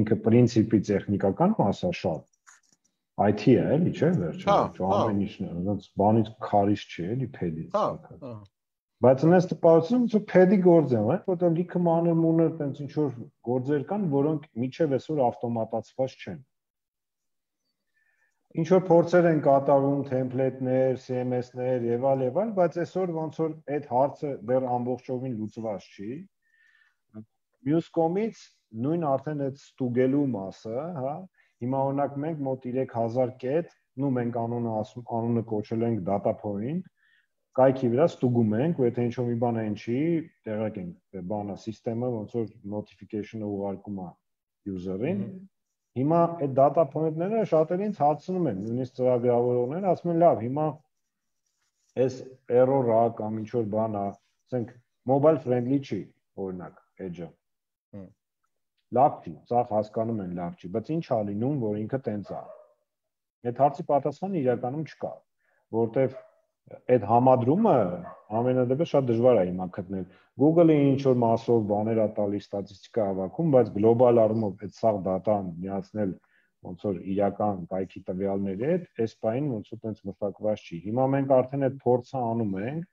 [SPEAKER 2] ինքը պրինցիպի տեխնիկական մասը շատ I T է, էլի, չէ՞, վերջերս, ամեն ինչն է, ոնց բանից քարից չի, էլի, փեդից։ Բայց այնպես տպավորություն, որ փեդի գործ է, որտեղ լիքը մանր մունր տենց ինչ որ գործեր կան, որոնք միջև այսօր ավտոմատացված չեն։ Ինչ որ փորձեր են կատարում, թեմպլեյթներ, C M S-ներ եւ այլ եւ այլ, բայց այսօր ոնց որ այդ հարցը դեռ ամբողջովին լուծված չի։ Մյուս կողմից նույն արդեն այդ ստուգելու մասը, հա, հիմա օրինակ մենք մոտ երեք հազար կետ, նու մենք անունը ասում, անունը կոչել ենք data point, կայքի վրա ստուգում ենք, ու եթե ինչ-որ մի բան այն չի, տեղակ ենք, բանը, սիստեմը ոնց որ notification-ը ուղարկում է user-ին։ Հիմա այդ data point-ները շատերին հարցնում են, նույնիսկ ծրագրավորողները ասում են, լավ, հիմա այս error-ը կամ ինչ-որ բան է, ասենք mobile friendly չի, օրինակ, edge-ը։ Լավ չի, սա հասկանում են, լավ չի, բայց ինչ է լինում, որ ինքը տենց է։ Այդ հարցի պատասխանը իրականում չկա, որտեվ այդ համադրումը ամենադեպս շատ դժվար է հիմա գտնել։ Google-ը ինչ որ մասով բաներ է տալիս, ստատիստիկա հավաքում, բայց գլոբալ առումով այդ սաղ դատան միացնել ոնց որ իրական կայքի տվյալների հետ, այս բանին ոնց որ տենց մշակված չի։ Հիմա մենք արդեն այդ փորձը անում ենք,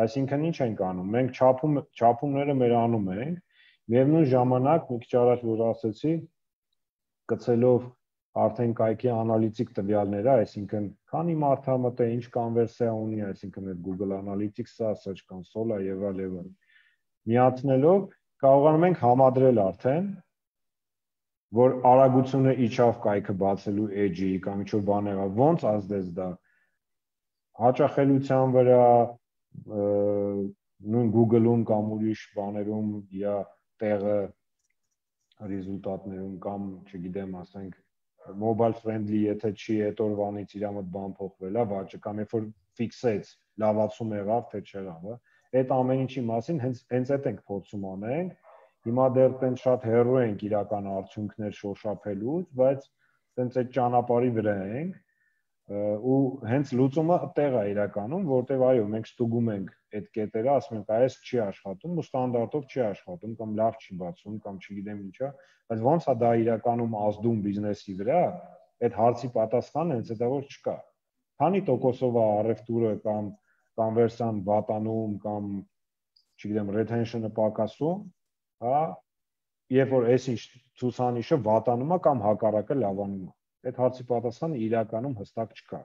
[SPEAKER 2] այսինքն ինչ ենք անում։ Մենք չափում չափումները մեր անում ենք, միևնույն ժամանակ մի քիչ առաջ որ ասեցի, գցելով արդեն կայքի անալիտիկ տվյալները, այսինքն քանի մարդ է մտել, ինչ կոնվերսիա ունի, այսինքն այդ Google Analytics-ը, Search Console-ը եւ այլ եւ այլ։ Միացնելով կարողանում ենք համադրել արդեն, որ արագությունը իջավ կայքը բացելու edge-ի կամ ինչ-որ բաներ, ոնց ազդեց դա հաճախելիության վրա, նույն Google-ում կամ ուրիշ բաներում իա տեղը ռեզուլտատներում կամ, չգիտեմ, ասենք mobile friendly եթե չի, այդ օրվանից իր մոտ բան փոխվել է, վաճը կամ երբ որ ֆիքսեց, լավացում եղավ, թե չեղավ, այդ ամեն ինչի մասին հենց հենց այդ ենք փորձում անենք։ Հիմա դեռ տենց շատ հեռու ենք իրական արդյունքներ շոշափելուց, բայց տենց այդ ճանապարհի վրա ենք ու հենց լուծումը այդտեղ է իրականում, որտեղ այո, մենք ստուգում ենք այդ կետերը, ասում ենք, այս չի աշխատում, ու ստանդարտով չի աշխատում կամ լավ չի բացում կամ չգիտեմ ինչա, բայց ոնց է դա իրականում ազդում բիզնեսի վրա, այդ հարցի պատասխանը հենց դա որ չկա։ Քանի տոկոսով է առևտուրը կամ կոնվերսիան վատանում կամ չգիտեմ retention-ը պակասում, հա, երբ որ այս ինչ ցուցանիշը վատանում է կամ հակառակը լավանում է։ Այդ հարցի պատասխանը իրականում հստակ չկա։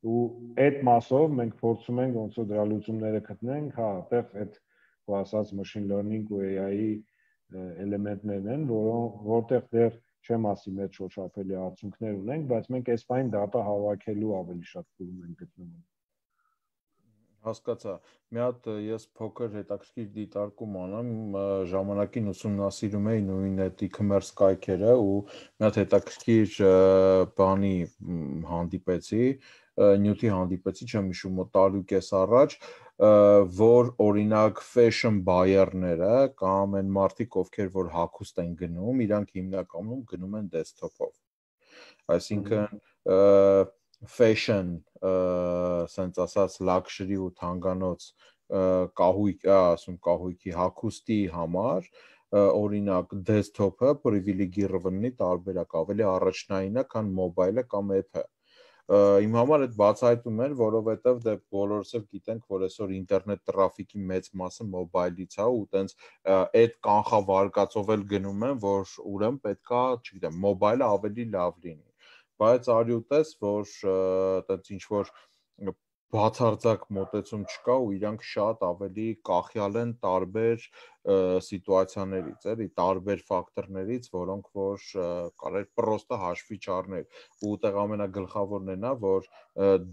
[SPEAKER 2] Ու այդ մասով մենք փորձում ենք ոնց որ դրա լուծումները գտնենք, հա, այդտեղ այդ ու ասած machine learning ու A I-ի էլեմենտներն են, որոնք որտեղ դեռ չեմ ասի մեծ շոշափելի արդյունքներ ունենք, բայց մենք այս բան data հավաքելու ավելի շատ փուլում ենք գտնվում։
[SPEAKER 1] Հասկացա։ Մի հատ ես փոքր հետաքրքիր դիտարկում անեմ, ժամանակին ուսումնասիրում էի նույն այդ e-commerce կայքերը ու մի հատ հետաքրքիր բանի հանդիպեցի, նյութի հանդիպեցի, չեմ հիշում, մոտ տարի ու կես առաջ, որ օրինակ fashion buyer-ները կամ այն մարդիկ, ովքեր որ հագուստ են գնում, իրանք հիմնականում գնում են desktop-ով։ Այսինքն fashion, սենց ասած luxury ու թանկանոց կահույք, ասում կահույքի հագուստի համար, օրինակ desktop-ը privilegированы տարբերակ ավելի առաջնային է, քան mobile-ը կամ app-ը։ իմ համար այդ բացահայտում էր, որովհետև դե բոլորս էլ գիտենք, որ այսօր ինտերնետ տրաֆիկի մեծ մասը մոբայլից է ու տենց այդ կանխավարկածով էլ գնում են, որ ուրեմն պետքա, չգիտեմ, մոբայլը ավելի լավ լինի։ Բայց արի ու տես, որ տենց ինչ որ բացարձակ մոտեցում չկա ու իրանք շատ ավելի կախյալ են տարբեր սիտուացիաներից, էլի, տարբեր ֆակտորներից, որոնք որ կարելի պրոստը հաշվի չառնել։ Ու ուտեղ ամենագլխավորն է նա, որ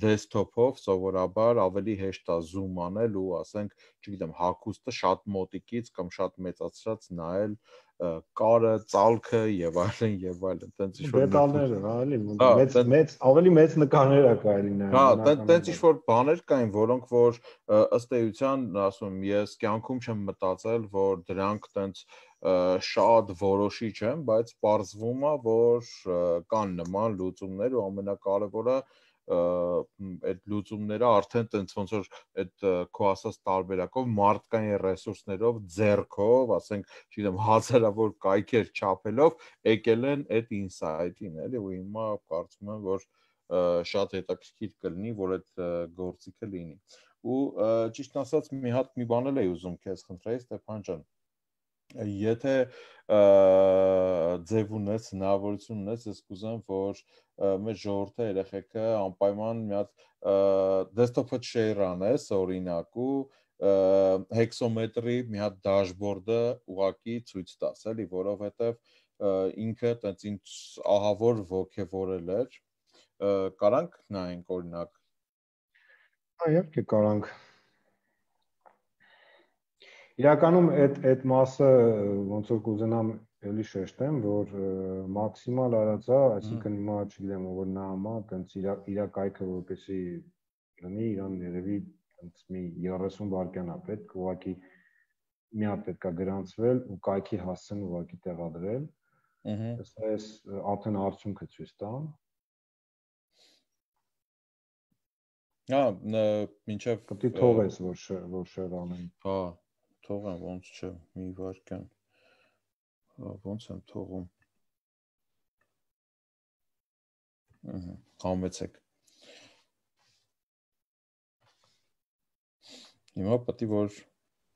[SPEAKER 1] դեսքթոփով սովորաբար ավելի հեշտ է զում անել ու ասենք, չգիտեմ, հագուստը շատ մոտիկից կամ շատ մեծացրած նայել կարը, ծալքը եւ այլն եւ այլն, տենց ինչ որ
[SPEAKER 2] դետալները, հա, էլի, մեծ մեծ ավելի մեծ նկարներ ա կարելի նայել։
[SPEAKER 1] Հա, տենց ինչ որ բաներ կային, որոնք որ ըստ էության, ասում եմ, ես կյանքում չեմ մտածել, որ դրանք տենց շատ որոշիչ են, բայց պարզվում է, որ կան նման լուծումներ ու ամենակարևորը այդ լուծումները արդեն տենց ոնց որ այդ քո ասած տարբերակով մարդկային ռեսուրսներով, ձեռքով, ասենք, չգիտեմ, հազարավոր կայքեր չափելով եկել են այդ ինսայթին, էլի, ու հիմա կարծում եմ, որ շատ հետաքրքիր կլինի, որ այդ գործիքը լինի։ Ու ճիշտ ասած, մի հատ մի բան էլ էի ուզում քեզ խնդրեի, Ստեփան ջան, եթե ձև ունես, հնարավորություն ունես, ես կուզեմ, որ մեր ժողովրդը երեխեքը անպայման մի հատ դեսքթոփը share անես, օրինակ, ու հեքսոմետրի մի հատ դաշբորդը ուղակի ցույց տաս, էլի, որովհետև ինքը տենց ինձ ահավոր ոգևորել էր, կարանք նայենք օրինակ։
[SPEAKER 2] Հա, իհարկե կարանք։ Իրականում այդ այդ մասը ոնց որ կուզենամ էլի շեշտեմ, որ մաքսիմալ արածա, այսինքն հիմա չգիտեմ, որ նամա, տենց իր իր կայքը որպեսի լինի, իրան երևի տենց մի երեսուն վայրկյան է պետք, ուղղակի մի հատ պետքա գրանցվել ու կայքի հասցեն ուղղակի տեղադրել։ Ահա։ Այս արդեն արդյունքը ցույց տամ։
[SPEAKER 1] Հա, մինչև
[SPEAKER 2] պետք է թողես, որ որ շեր անեն։
[SPEAKER 1] Հա, թողեմ, ոնց չէ, մի վայրկյան։ Ոնց եմ թողում։ Ահա, համեցեք։ Հիմա պետք է որ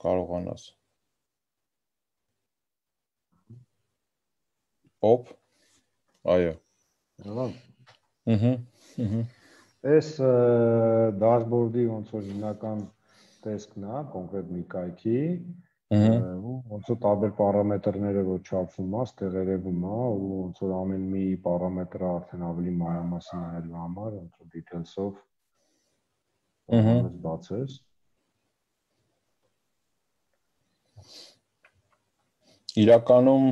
[SPEAKER 1] կարողանաս։ Պոպ։ Այո։
[SPEAKER 2] Հա։
[SPEAKER 1] Ահա, ահա։
[SPEAKER 2] Այս դաշբորդի ոնց որ հիմնական տեսքն է, կոնկրետ մի կայքի, ու ոնց որ տարբեր պարամետրները որ չափվում է, ստեղ երևում է, ու ոնց որ ամեն մի պարամետրը արդեն ավելի մանրամասն նայելու համար, ոնց որ details-ով կարողանաս բացես։
[SPEAKER 1] Իրականում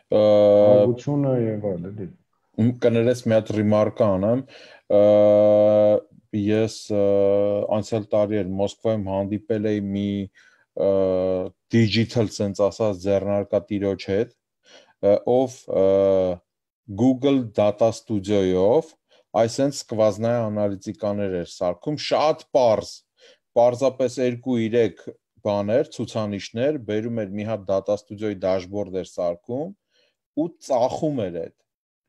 [SPEAKER 2] հագությունը եւ այլն, էլի։
[SPEAKER 1] Կներես մի հատ ռիմարկը անեմ, ես անցյալ տարի էր Մոսկվայում հանդիպել էի մի digital sense ասած ձեռնարկատիրոջ հետ, ով Google Data Studio-ով այսենց սկվազնայ անալիտիկաներ էր սարքում, շատ պարզ, պարզապես երկու-երեք բաներ, ցուցանիշներ, բերում էր մի հատ Data Studio-ի դաշբորդ էր սարքում ու ծախում էր այդ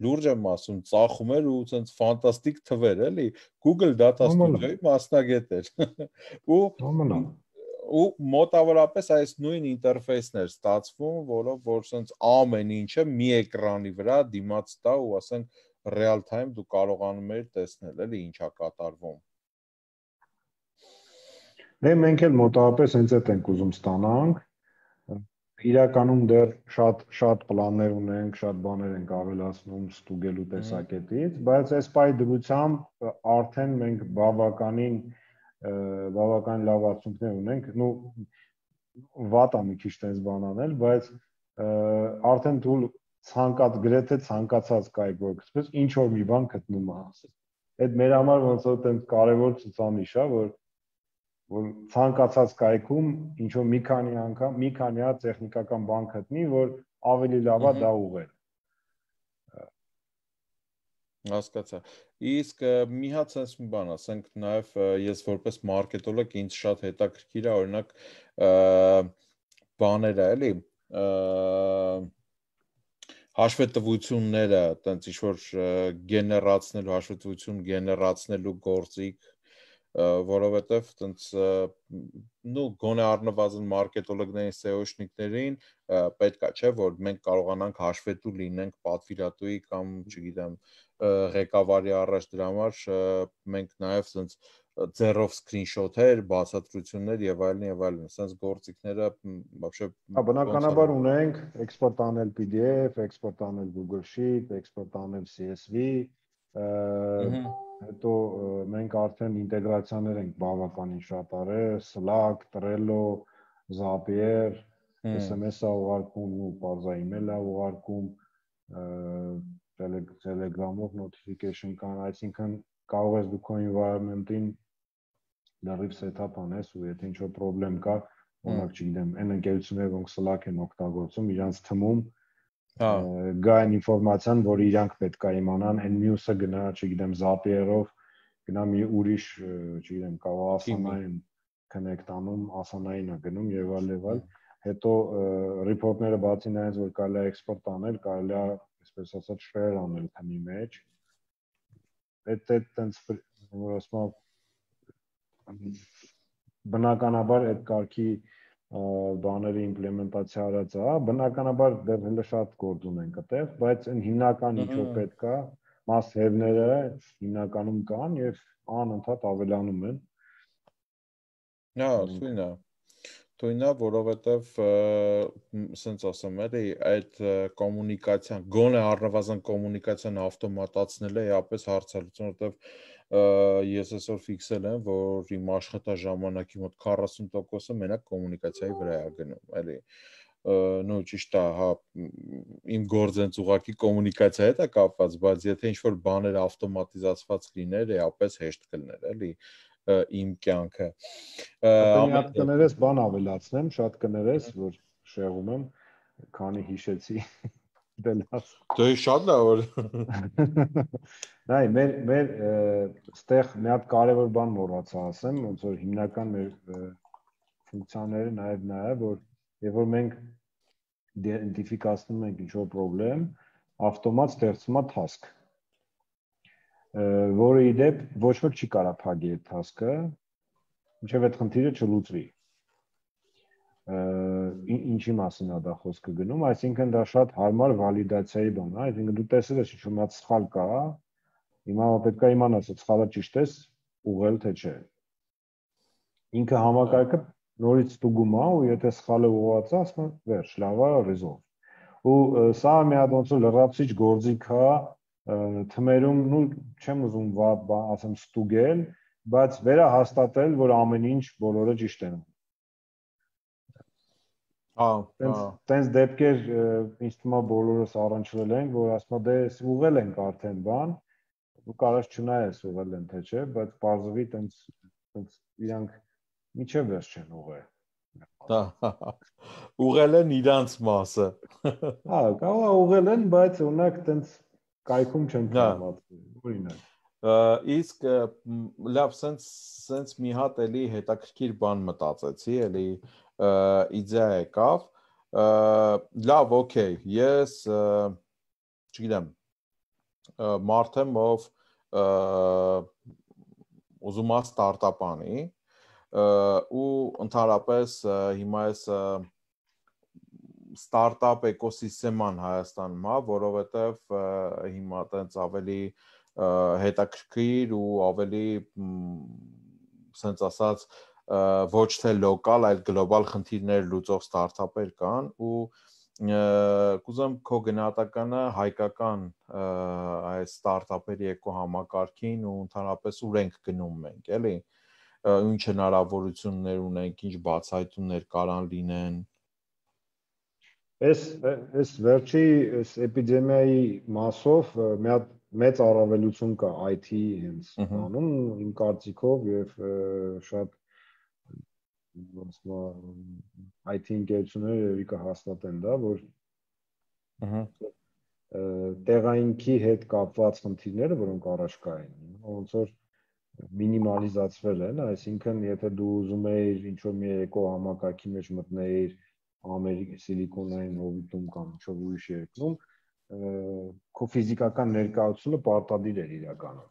[SPEAKER 1] լուրջ եմ ասում, ծախում էր ու ցենց ֆանտաստիկ թվեր, էլի, Google Data Studio-ի մասնագետ էր։ Ու ու մոտավորապես այս նույն ինտերֆեյսն էր ստացվում, որով որ ցենց ամեն ինչը մի էկրանի վրա դիմաց տա ու ասենք real time դու կարողանում ես տեսնել, էլի, ինչա կատարվում։
[SPEAKER 2] Դե մենք էլ մոտավորապես հենց այդ ենք ուզում ստանանք։ Իրականում դեռ շատ շատ պլաններ ունենք, շատ բաներ ենք ավելացնում ստուգելու տեսակետից, բայց այս պայ դրությամբ արդեն մենք բավականին բավական լավ արդյունքներ ունենք, նու վատ է մի քիչ տես բան անել, բայց արդեն դու ցանկած գրեթե ցանկացած կայք որ գցես, ինչ որ մի բան գտնում ես։ Այդ մեր համար ոնց որ տենց կարևոր ցուցանիշ է, որ որ ցանկացած կայքում ինչ որ մի քանի անգամ, մի քանի հատ տեխնիկական բան գտնի, որ ավելի լավ է դա ուղղել։
[SPEAKER 1] Հասկացա։ Իսկ մի հատ sense մի բան ասենք, նաև ես որպես մարքետոլոգ ինձ շատ հետաքրքիր է, օրինակ բաները, էլի, հաշվետվությունները, տենց ինչ-որ գեներացնելու, հաշվետվություն գեներացնելու գործիք, որովհետև տենց նու գոնե առնվազն մարքետոլոգներին, սեոշնիկներին պետք է, չէ, որ մենք կարողանանք հաշվետու լինենք պատվիրատուի կամ, չգիտեմ, ղեկավարի առաջ դրա համար մենք նաև տենց ձեռով սկրինշոթեր, բացատրություններ եւ այլն եւ այլն, sense գործիքները вообще
[SPEAKER 2] բնականաբար ունենք էքսպորտ անել P D F, էքսպորտ անել Google Sheet, էքսպորտ անել C S V, հետո մենք արդեն ինտեգրացիաներ ենք բավականին շատ արել, Slack, Trello, Zapier, S M S-ը ուղարկում ու բարձա email-ը ուղարկում, Telegram-ով notification կան, այսինքն կարող ես դու քո environment-ին լրիվ set-up անես ու եթե ինչ-որ problem կա, օրինակ չգիտեմ, այն ընկերությունները, որոնք Slack են օգտագործում, իրանց թմում գա այն ինֆորմացիան, որ իրանք պետք է իմանան, այն մյուսը գնա, չգիտեմ, Zapier-ով գնա մի ուրիշ, չգիտեմ, կարող ասանային connect անում, ասանային է գնում եւ այլ եւ այլ, հետո report-ները բացի նայած, որ կարելի է export անել, կարելի է, այսպես ասած, share անել թմի մեջ, այդ այդ տենց որ ասում բնականաբար այդ կարգի բաների իմպլեմենտացիա արած է, բնականաբար դեռ հենց շատ գործ ունենք այդտեղ, բայց այն հիմնական ինչ որ պետք է, must have-ները հիմնականում կան եւ անընդհատ ավելանում են։
[SPEAKER 1] Հա, թույն է։ Թույն է, որովհետև սենց ասեմ, էլի այդ կոմունիկացիան, գոնե առնվազն կոմունիկացիան ավտոմատացնելը էապես հարցալուծում, որովհետև ես այսօր ֆիքսել եմ, որ իմ աշխատաժամանակի մոտ քառասուն տոկոսը մենակ կոմունիկացիայի վրա է գնում, էլի նո ճիշտ է, հա, իմ գործենց ուղղակի կոմունիկացիա հետ է կապված, բայց եթե ինչ-որ բաներ ավտոմատիզացված լիներ, էապես հեշտ կլներ, էլի իմ կյանքը։
[SPEAKER 2] Հատ կներես բան ավելացնեմ, շատ կներես, որ շեղում եմ, քանի հիշեցի դելաս։
[SPEAKER 1] Դե շատ լավ որ։
[SPEAKER 2] Նայ, մեր մեր ստեղ մի հատ կարևոր բան մոռացա ասեմ, ոնց որ հիմնական մեր ֆունկցիաները նաև նա է, որ երբ որ մենք իդենտիֆիկացնում ենք ինչ-որ խնդրեմ, ավտոմատ ստեղծում է task, որը ի դեպ ոչ ոք չի կարող փակի այդ task-ը, մինչև այդ խնդիրը չլուծվի։ Ինչի մասին է դա խոսքը գնում, այսինքն դա շատ հարմար վալիդացիայի բան է, այսինքն դու տեսել ես ինչ-որ մի հատ սխալ կա, հիմա պետք է իմանաս, այդ սխալը ճիշտ է ուղղել թե չէ։ Ինքը համակարգը նորից ստուգում է ու եթե սխալը ուղղված է, ասում է վերջ, լավ է, resolve։ Ու սա մի հատ ոնց որ լրացուցիչ գործիք է, թմերում, ну, չեմ ուզում ասեմ ստուգել, բայց վերահաստատել, որ ամեն ինչ բոլորը ճիշտ են։
[SPEAKER 1] Հա,
[SPEAKER 2] տենց դեպքեր ինձ թվում է բոլորս առնչվել են, որ ասում է դե ուղղել ենք արդեն բան, ու կարաս չնայես ուղղել են թե չէ, բայց բարձվի տենց տենց իրանք միջև վերջ չեն ուղղել։
[SPEAKER 1] Հա, ուղղել են իրանց մասը։
[SPEAKER 2] Հա, կարող է ուղղել են, բայց օրինակ տենց կայքում չեն թողնացել, օրինակ։
[SPEAKER 1] Իսկ լավ, սենց սենց մի հատ էլի հետաքրքիր բան մտածեցի, էլի իդեա եկավ, լավ, օքեյ, ես չգիտեմ, մարդ եմ, ով ուզում է ստարտափ անի, ու ընդհանրապես հիմա ես ստարտափ էկոսիստեման Հայաստանում է, որովհետև հիմա տենց ավելի հետաքրքիր ու ավելի սենց ասած ոչ թե լոկալ, այլ գլոբալ խնդիրներ լուծող ստարտափեր կան ու կուզեմ քո գնահատականը հայկական այս ստարտափերի էկոհամակարգին ու ընդհանրապես ուր ենք գնում մենք, էլի, ինչ հնարավորություններ ունենք, ինչ բացահայտումներ կարան լինեն։
[SPEAKER 2] Այս այս վերջի այս էպիդեմիայի մասով մի հատ մեծ առավելություն կա I T հենց բանում, իմ կարծիքով եւ շատ ոնց I T ընկերությունները երևի կհաստատեն դա, որ տեղայինքի հետ կապված խնդիրները, որոնք առաջ կային, ոնց որ մինիմալիզացվել են, այսինքն եթե դու ուզում ես ինչ-որ մի էկո համակարգի մեջ մտնել Ամերիկի Սիլիկոնային հովիտում կամ ինչ-որ ուրիշ երկրում, քո ֆիզիկական ներկայությունը պարտադիր էր իրականում։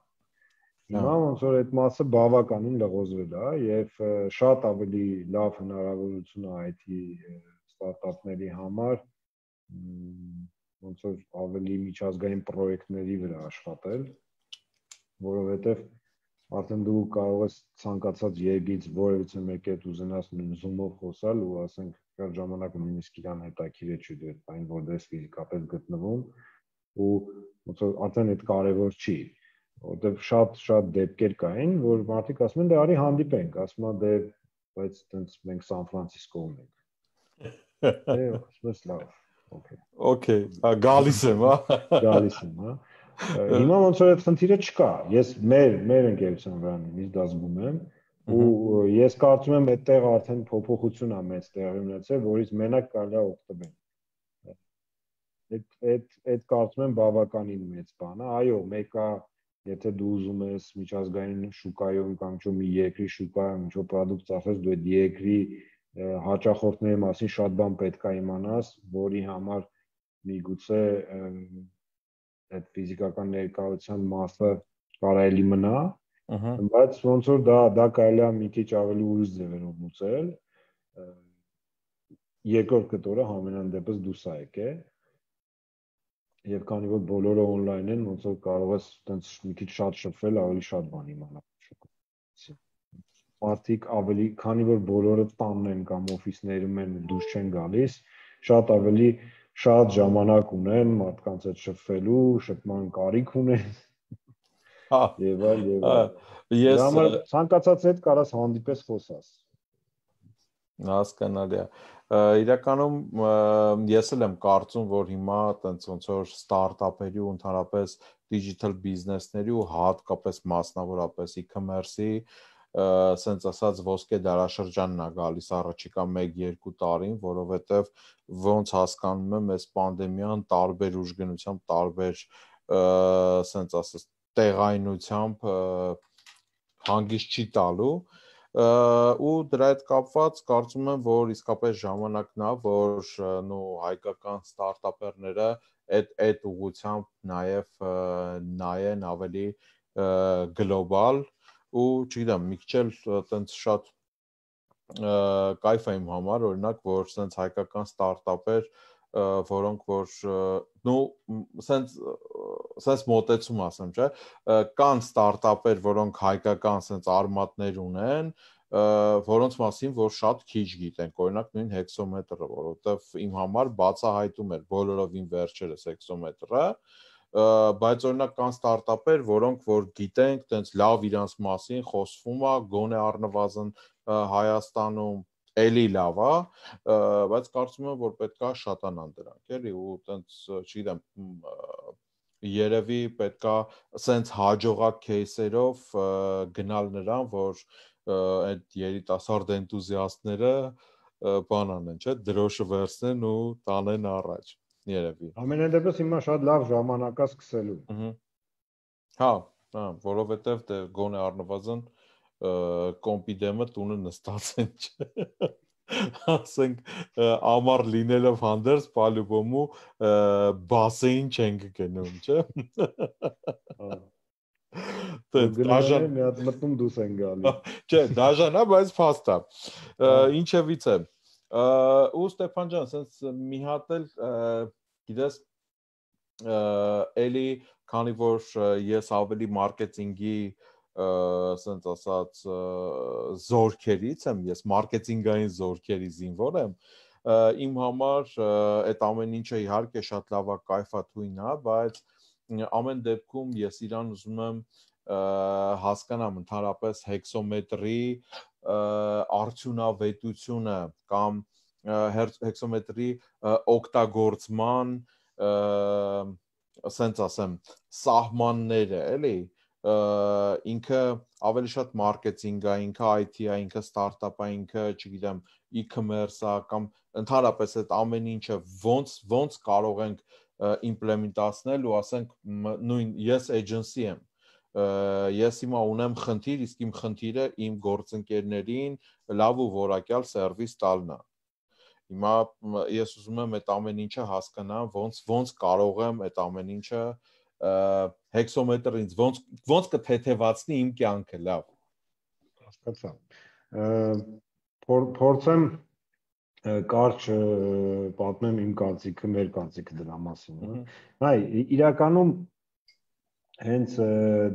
[SPEAKER 2] Հիմա ոնց որ այդ մասը բավականին լղոզվել է եւ շատ ավելի լավ հնարավորություն է այ թի ստարտափների համար ոնց որ ավելի միջազգային պրոյեկտների վրա աշխատել, որովհետեւ արդեն դու կարող ես ցանկացած երկրից որևիցե մեկի հետ ուզենաս Zoom-ով խոսալ ու ասենք կար ժամանակ նույնիսկ իրան հետաքրիր է չդու այն որտեղ ֆիզիկապես գտնվում ու ոնց որ արդեն այդ կարևոր չի, որտեղ շատ-շատ դեպքեր կային, որ մարդիկ ասում են դե արի հանդիպենք, ասում են դե բայց տենց մենք Սան Ֆրանցիսկոում ենք։ Դե ասես լավ, օքեյ։
[SPEAKER 1] Okay, գալիս եմ, հա։
[SPEAKER 2] Գալիս եմ, հա։ Հիմա ոնց որ այդ խնդիրը չկա։ Ես մեր մեր ընկերության վրա նույնիսկ դա զգում եմ ու ես կարծում եմ այդտեղ արդեն փոփոխություն է մեծ տեղի ունեցել, որից մենակ կարելի է օգտվել։ Այդ այդ այդ կարծում եմ բավականին մեծ բան է։ Այո, մեկը եթե դու ուզում ես միջազգային շուկայում կամ ինչ-որ մի երկրի շուկայում ինչ-որ product ծախես, դու այդ երկրի հաճախորդների մասին շատ բան պետք է իմանաս, որի համար միգուցե այդ ֆիզիկական ներկայության մասը կարելի մնա, բայց ոնց որ դա դա կարելի է մի քիչ ավելի ուրիշ ձևերով լուծել։ Երկրորդ կտորը համենայն դեպս դուրս է եկել։ Եվ քանի որ բոլորը on-line են, ոնց որ կարող ես տենց մի քիչ շատ շփվել, ավելի շատ բան իմանալ։ Մարդիկ ավելի, քանի որ բոլորը տանն են կամ օֆիսներում են, դուրս չեն գալիս, շատ ավելի շատ ժամանակ ունեն մարդկանց հետ շփվելու, շփման կարիք ունեն։
[SPEAKER 1] Հա,
[SPEAKER 2] եւ այլ եւ այլ։
[SPEAKER 1] Ես
[SPEAKER 2] ցանկացած հետ կարաս հանդիպես խոսաս։
[SPEAKER 1] Հասկանալի է։ Իրականում ես էլ եմ կարծում, որ հիմա տենց ոնց որ ստարտափերի ու ընդհանրապես digital business-ների ու հատկապես մասնավորապես e-commerce-ի սենց ասած ոսկե դարաշրջանն է գալիս առաջիկա մեկ երկու տարին, որովհետև ոնց հասկանում եմ, այս պանդեմիան տարբեր ուժգնությամբ, տարբեր սենց ասած տեղայնությամբ հանգիստ չի տալու ու դրա հետ կապված կարծում եմ, որ իսկապես ժամանակն է, որ նո հայկական ստարտափերները այդ այդ ուղղությամբ նաև նայեն ավելի գլոբալ ու չգիտեմ, մի քիչ էլ տենց շատ կայֆ է իմ համար, օրինակ, որ սենց հայկական ստարտափեր, որոնք որ նո սենց սենց մոտեցում ասեմ, չէ, կան ստարտափեր, որոնք հայկական սենց արմատներ ունեն, որոնց մասին որ շատ քիչ գիտենք, օրինակ նույն հեքսոմետրը, որովհետև իմ համար բացահայտում էր բոլորովին վերջերս հեքսոմետրը, բայց օրինակ կան ստարտափեր, որոնք որ գիտենք, տենց լավ իրանց մասին խոսվում է, գոնե առնվազն Հայաստանում էլի լավ է, բայց կարծում եմ, որ պետքա շատանան դրանք, էլի, ու տենց, չգիտեմ, երևի պետքա սենց հաջողակ кейսերով գնալ նրան, որ այդ երիտասարդ էնտուզիաստները բան անեն, չէ, դրոշը վերցնեն ու տանեն առաջ, երևի։
[SPEAKER 2] Ամենայն դեպս հիմա շատ լավ ժամանակ է սկսելու։
[SPEAKER 1] Հա, հա, որովհետև դե գոնե առնվազն կոմպիդեմը տունը նստած են, չէ։ Ասենք ամառ լինելով հանդերձ պալյուբոմու բասեին չենք գնում, չէ։
[SPEAKER 2] Դաժան մի հատ մտնում դուս են գալի։
[SPEAKER 1] Չէ, դաժան է, բայց փաստ է։ Ինչևից է։ Ու Ստեփան ջան, sense մի հատ էլ գիտես էլի քանի որ ես ավելի մարքեթինգի sense ասած զորքերից եմ, ես մարքեթինգային զորքերի զինվոր եմ, իմ համար այդ ամեն ինչը իհարկե շատ լավ է, կայֆ է, թույն է, բայց ամեն դեպքում ես իրան ուզում եմ հասկանամ ընդհանրապես հեքսոմետրի արդյունավետությունը կամ հեքսոմետրի օգտագործման ասենց ասեմ սահմանները, էլի ինքը ավելի շատ մարքեթինգ է, ինքը այ թի է, ինքը ստարտափ է, ինքը, չգիտեմ, e-commerce է կամ ընդհանրապես այդ ամեն ինչը ոնց ոնց կարող ենք իմպլեմենտացնել ու ասենք նույն ես էջենսի եմ, ես հիմա ունեմ խնդիր, իսկ իմ խնդիրը իմ գործընկերներին լավ ու որակյալ սերվիս տալն է։ Հիմա ես ուզում եմ այդ ամեն ինչը հասկանամ, ոնց ոնց կարող եմ այդ ամեն ինչը հեքսոմետրից ոնց ոնց կթեթևացնի իմ կյանքը, լավ։
[SPEAKER 2] Հասկացա։ Փորձեմ կարճ պատմեմ իմ կարծիքը, մեր կարծիքը դրա մասին, հա։ Իրականում հենց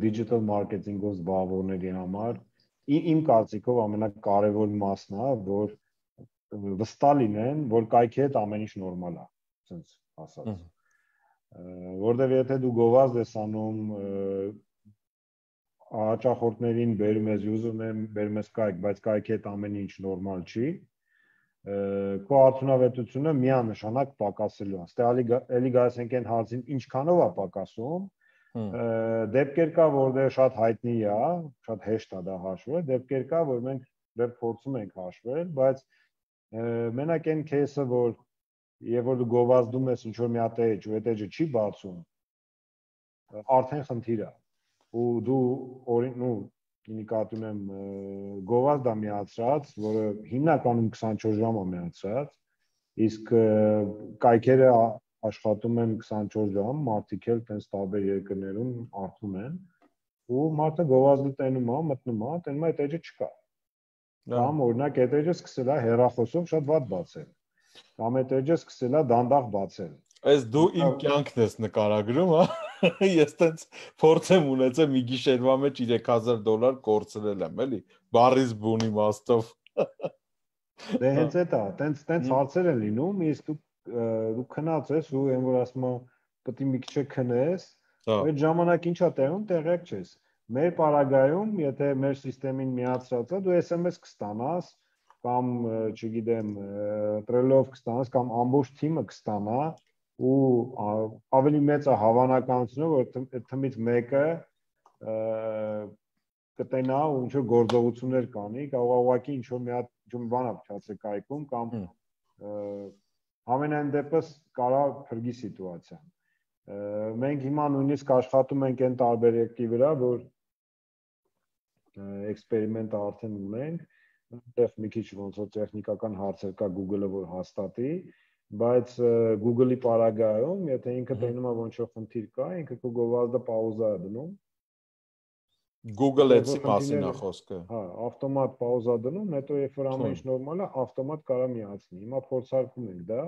[SPEAKER 2] digital marketing-ով զբաղվողների համար իմ կարծիքով ամենակարևոր մասն է, որ վստահ լինեն, որ կայքի հետ ամեն ինչ նորմալ է, ասենց ասած։ Որտեղ եթե դու գովազդ ես անում, հաճախորդներին բերում ես, ուզում եմ բերում ես կայք, բայց կայքի հետ ամեն ինչ նորմալ չի, քո արդյունավետությունը միանշանակ պակասելու է։ Ստե էլի գալիս ենք այն հարցին, ինչքանով է պակասում։ Դեպքեր կա, որտեղ շատ հայտնի է, շատ հեշտ է դա հաշվել, դեպքեր կա, որ մենք դեռ փորձում ենք հաշվել, բայց մենակ այն кейսը, որ երբ որ դու գովազդում ես ինչ-որ մի հատ էջ, ու այդ էջը չի բացում, արդեն խնդիր է։ Ու դու օրինակ նկատում եմ գովազդ է միացրած, որը հիմնականում քսանչորս ժամ է միացրած, իսկ կայքերը աշխատում են քսանչորս ժամ, մարդիկ էլ տենց տարբեր երկրներում արթուն են, ու մարդը գովազդը տենում է, մտնում է, տենում է այդ էջը չկա։ Կամ օրինակ այդ էջը սկսել է հեռախոսով շատ վատ բացել։ Կամ այդ էջը սկսել է դանդաղ բացել։
[SPEAKER 1] Այս դու իմ կյանքն ես նկարագրում, հա։ Ես տենց փորձ եմ ունեցել մի գիշերվա մեջ երեք հազար դոլար կորցրել եմ, էլի, բարիս բունի մաստով։
[SPEAKER 2] Դե հենց էդ է, տենց տենց հարցեր են լինում, իսկ դու դու քնած ես ու այն որ ասում եմ պետք է մի քիչ քնես, այդ ժամանակ ինչա տեղում, տեղյակ չես։ Մեր պարագայում, եթե մեր համակարգին միացրած է, դու S M S կստանաս կամ, չգիտեմ, տրելով կստանաս կամ ամբողջ թիմը կստանա ու ավելի մեծ է հավանականությունը, որ այդ թիմից մեկը կտենա ու ինչ-որ գործողություններ կանի, կարող է ուղղակի ինչ-որ մի հատ ինչ-որ բան փչացել կայքում կամ համենայն դեպս կարա փրկի սիտուացիան։ Մենք հիմա նույնիսկ աշխատում ենք այն տարբերակի վրա, որ էքսպերիմենտը արդեն ունենք, այնտեղ մի քիչ ոնց որ տեխնիկական հարցեր կա Google-ը որ հաստատի, բայց Google-ի պարագայում, եթե ինքը տենում է որ ինչ-որ խնդիր կա, ինքը քո գովազդը պաուզա է դնում։
[SPEAKER 1] Google Ads-ի մասին է խոսքը։
[SPEAKER 2] Հա, ավտոմատ պաուզա դնում, հետո երբ որ ամեն ինչ նորմալ է, ավտոմատ կարա միացնի։ Հիմա փորձարկում ենք դա,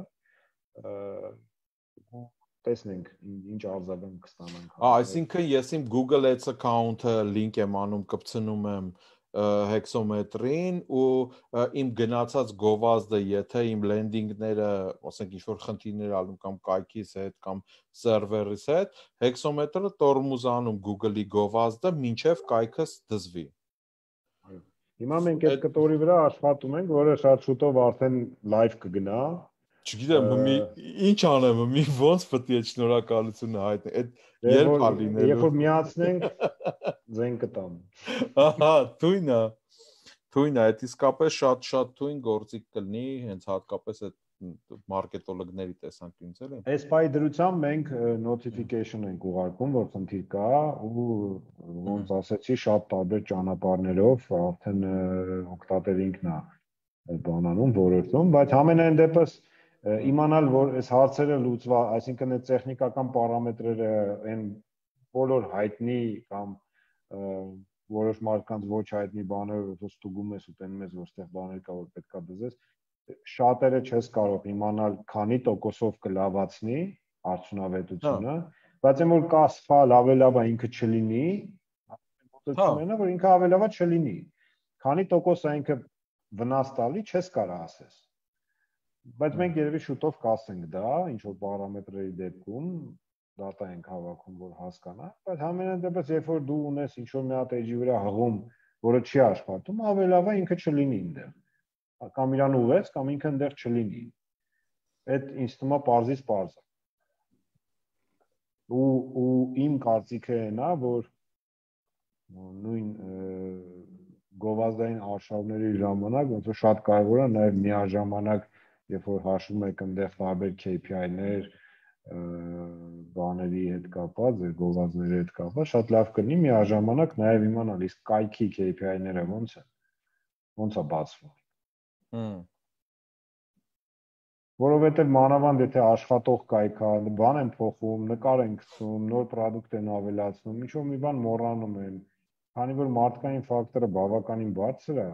[SPEAKER 2] տեսնենք ինչ արձագանք կստանանք։
[SPEAKER 1] Ահա, այսինքն ես իմ Google Ads account-ը link եմ անում, կպցնում եմ հեքսոմետրին ու իմ գնացած գովազդը, եթե իմ լենդինգները, ասենք ինչ-որ խնդիրներ ալում կամ կայքիս հետ կամ սերվերից հետ, հեքսոմետրը տորմուզանում Google-ի գովազդը մինչև կայքս դզվի։
[SPEAKER 2] Հիմա մենք այդ կտորի վրա աշխատում ենք, որը շատ շուտով արդեն live կգնա։
[SPEAKER 1] Չգիտեմ, մի ինչ անեմ, մի ոնց պետք է շնորհակալությունը հայտնի։ Այդ երբ է լինելու։
[SPEAKER 2] Երբ որ միացնենք, ձեն կտամ։
[SPEAKER 1] Ահա, թույն է։ Թույն է, այդ իսկապես շատ-շատ թույն գործիք կլինի, հենց հատկապես այդ մարքետոլոգների տեսանկյունից էլի։
[SPEAKER 2] Այս պայի դրությամբ մենք notification ենք ուղարկում, որ խնդիր կա ու ոնց ասեցի, շատ տարբեր ճանապարհներով արդեն օգտատեր ինքն է բանանում, որոշում, բայց ամենայն դեպս իմանալ, որ այս հարցերը լուծվա, այսինքն այդ տեխնիկական պարամետրերը այն բոլոր հայտնի կամ որոշ մարդկանց ոչ հայտնի բաները, որ ստուգում ես ու տենում ես, որ այդտեղ բաներ կա, որ պետքա դզես, շատերը չես կարող իմանալ քանի տոկոսով կլավացնի արդյունավետությունը, բայց այն որ կա սխալ, ավելավա ինքը չլինի, մոտեցումն է, որ ինքը ավելավա չլինի։ Քանի տոկոս է ինքը վնաս տալի, չես կարող ասես։ Բայց մենք երևի շուտով կասենք դա, ինչ որ պարամետրերի դեպքում դատա ենք հավաքում, որ հասկանա, բայց համենայն դեպս երբ որ դու ունես ինչ որ մի հատ էջի վրա հղում, որը չի աշխատում, ավելավա ինքը չլինի այնտեղ։ Կամ իրան ուղես, կամ ինքը այնտեղ չլինի։ Այդ ինձ թվում է պարզից պարզ է։ Ու ու իմ կարծիքը այն է, որ նույն գովազդային արշավների ժամանակ ոնց որ շատ կարևոր է նաև միաժամանակ երբ որ հաշվում եք այնտեղ տարբեր K P I-ներ, բաների հետ կապված, գովազդների հետ կապված, շատ լավ կլինի միաժամանակ նաև իմանալ, իսկ կայքի K P I-ները ոնց են, ոնց է բացվում։ որովհետև մանավանդ եթե աշխատող կայք կա, բան են փոխում, նկար են գցում, նոր պրոդուկտ են ավելացնում, ինչ-որ մի բան մոռանում են, քանի որ մարդկային ֆակտորը բավականին բարձր է,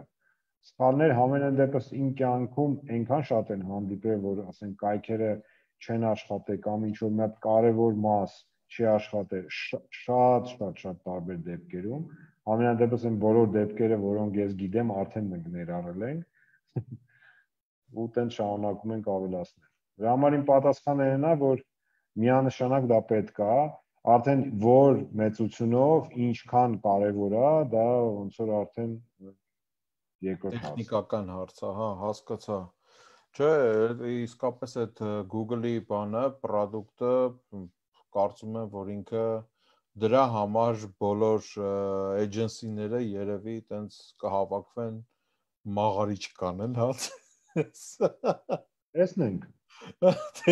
[SPEAKER 2] սխալներ համենայն դեպս իմ կյանքում այնքան շատ են հանդիպել, որ ասենք կայքերը չեն աշխատել կամ ինչ-որ մի հատ կարևոր մաս չի աշխատել, շատ շատ շատ տարբեր դեպքերում, համենայն դեպս այն բոլոր դեպքերը, որոնք ես գիտեմ, արդեն մենք ներառել ենք ու տենց շարունակում ենք ավելացնել։ Դրա համար իմ պատասխանը այն է, որ միանշանակ դա պետք է, արդեն որ մեծությունով, ինչքան կարևոր է, դա ոնց որ արդեն երկրորդ հարց է։
[SPEAKER 1] Տեխնիկական հարց է, հա, հասկացա։ Չէ, իսկապես այդ Google-ի բանը, պրոդուկտը կարծում եմ, որ ինքը դրա համար բոլոր էջենսիները երևի տենց կհավաքվեն մաղարիչ կանեն, հա։
[SPEAKER 2] Տեսնենք։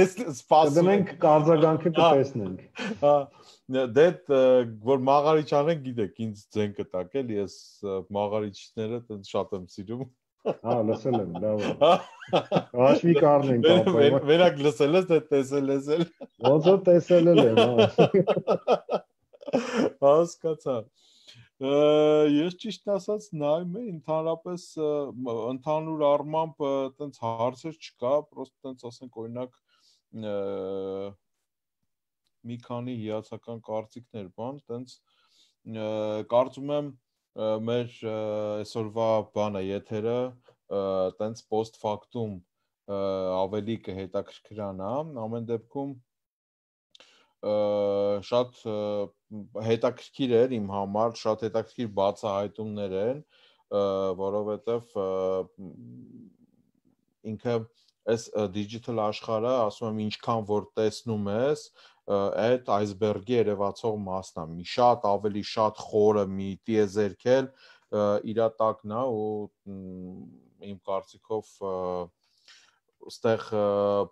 [SPEAKER 1] Սպասում
[SPEAKER 2] ենք կարձագանքը կտեսնենք։
[SPEAKER 1] Հա, դե որ մաղարիչ անեն, գիտեք, ինձ ձեն կտակ էլ, ես մաղարիչները տենց շատ եմ սիրում։
[SPEAKER 2] Հա, լսել եմ, լավ է։ Հաշվի կառնենք ապա։
[SPEAKER 1] Մենակ լսել ես, թե տեսել ես էլ։
[SPEAKER 2] Ոնց որ տեսել եմ, հա։
[SPEAKER 1] Հասկացա։ Ես ճիշտ ասած նայում եմ, ընդհանրապես ընդհանուր առմամբ տենց հարցեր չկա, պրոստը տենց ասենք օրինակ մի քանի հիացական կարծիքներ բան, տենց կարծում եմ մեր այսօրվա բանը եթերը տենց post factum ավելի կհետաքրքրանա, ամեն դեպքում շատ հետաքրքիր էր իմ համար, շատ հետաքրքիր բացահայտումներ են, որովհետև ինքը այս digital աշխարհը, ասում եմ, ինչքան որ տեսնում ես, այդ iceberg-ի երևացող մասն է, մի շատ ավելի շատ խորը մի տիեզերք էլ իրա տակն է ու իմ կարծիքով ստեղ